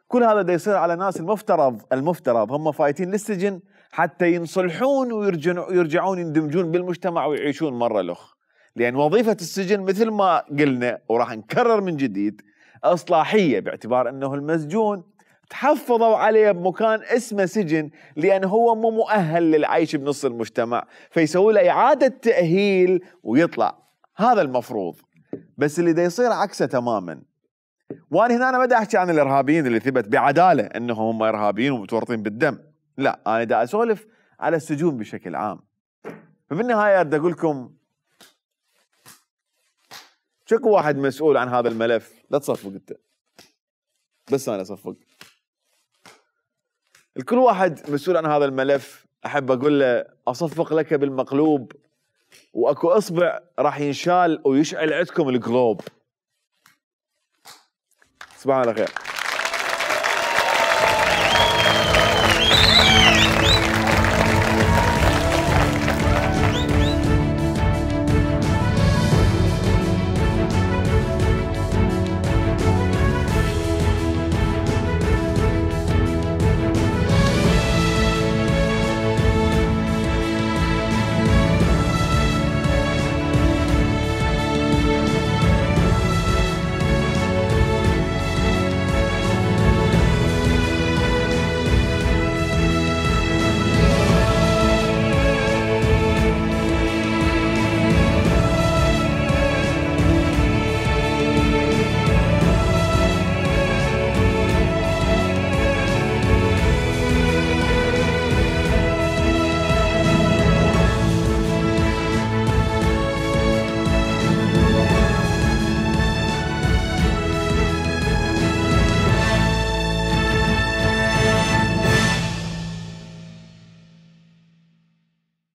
كل هذا دا يصير على ناس المفترض المفترض هم فايتين للسجن حتى ينصلحون ويرجعون يرجعون يندمجون بالمجتمع ويعيشون مره لخ. لان وظيفه السجن مثل ما قلنا وراح نكرر من جديد اصلاحيه، باعتبار انه المسجون تحفظوا عليه بمكان اسمه سجن لأنه هو مو مؤهل للعيش بنص المجتمع، فيسوي له إعادة تأهيل ويطلع. هذا المفروض، بس اللي دا يصير عكسه تماما. وأنا هنا أنا ما دا أحكي عن الإرهابيين اللي ثبت بعدالة أنهم هم إرهابيين ومتورطين بالدم، لا أنا دا أسولف على السجون بشكل عام. فبالنهاية دا أقول لكم شكو واحد مسؤول عن هذا الملف. لا تصفق انت، بس انا اصفق. الكل واحد مسؤول عن هذا الملف احب اقول له اصفق لك بالمقلوب، واكو اصبع راح ينشال ويشعل عندكم القلوب. تصبحون على خير.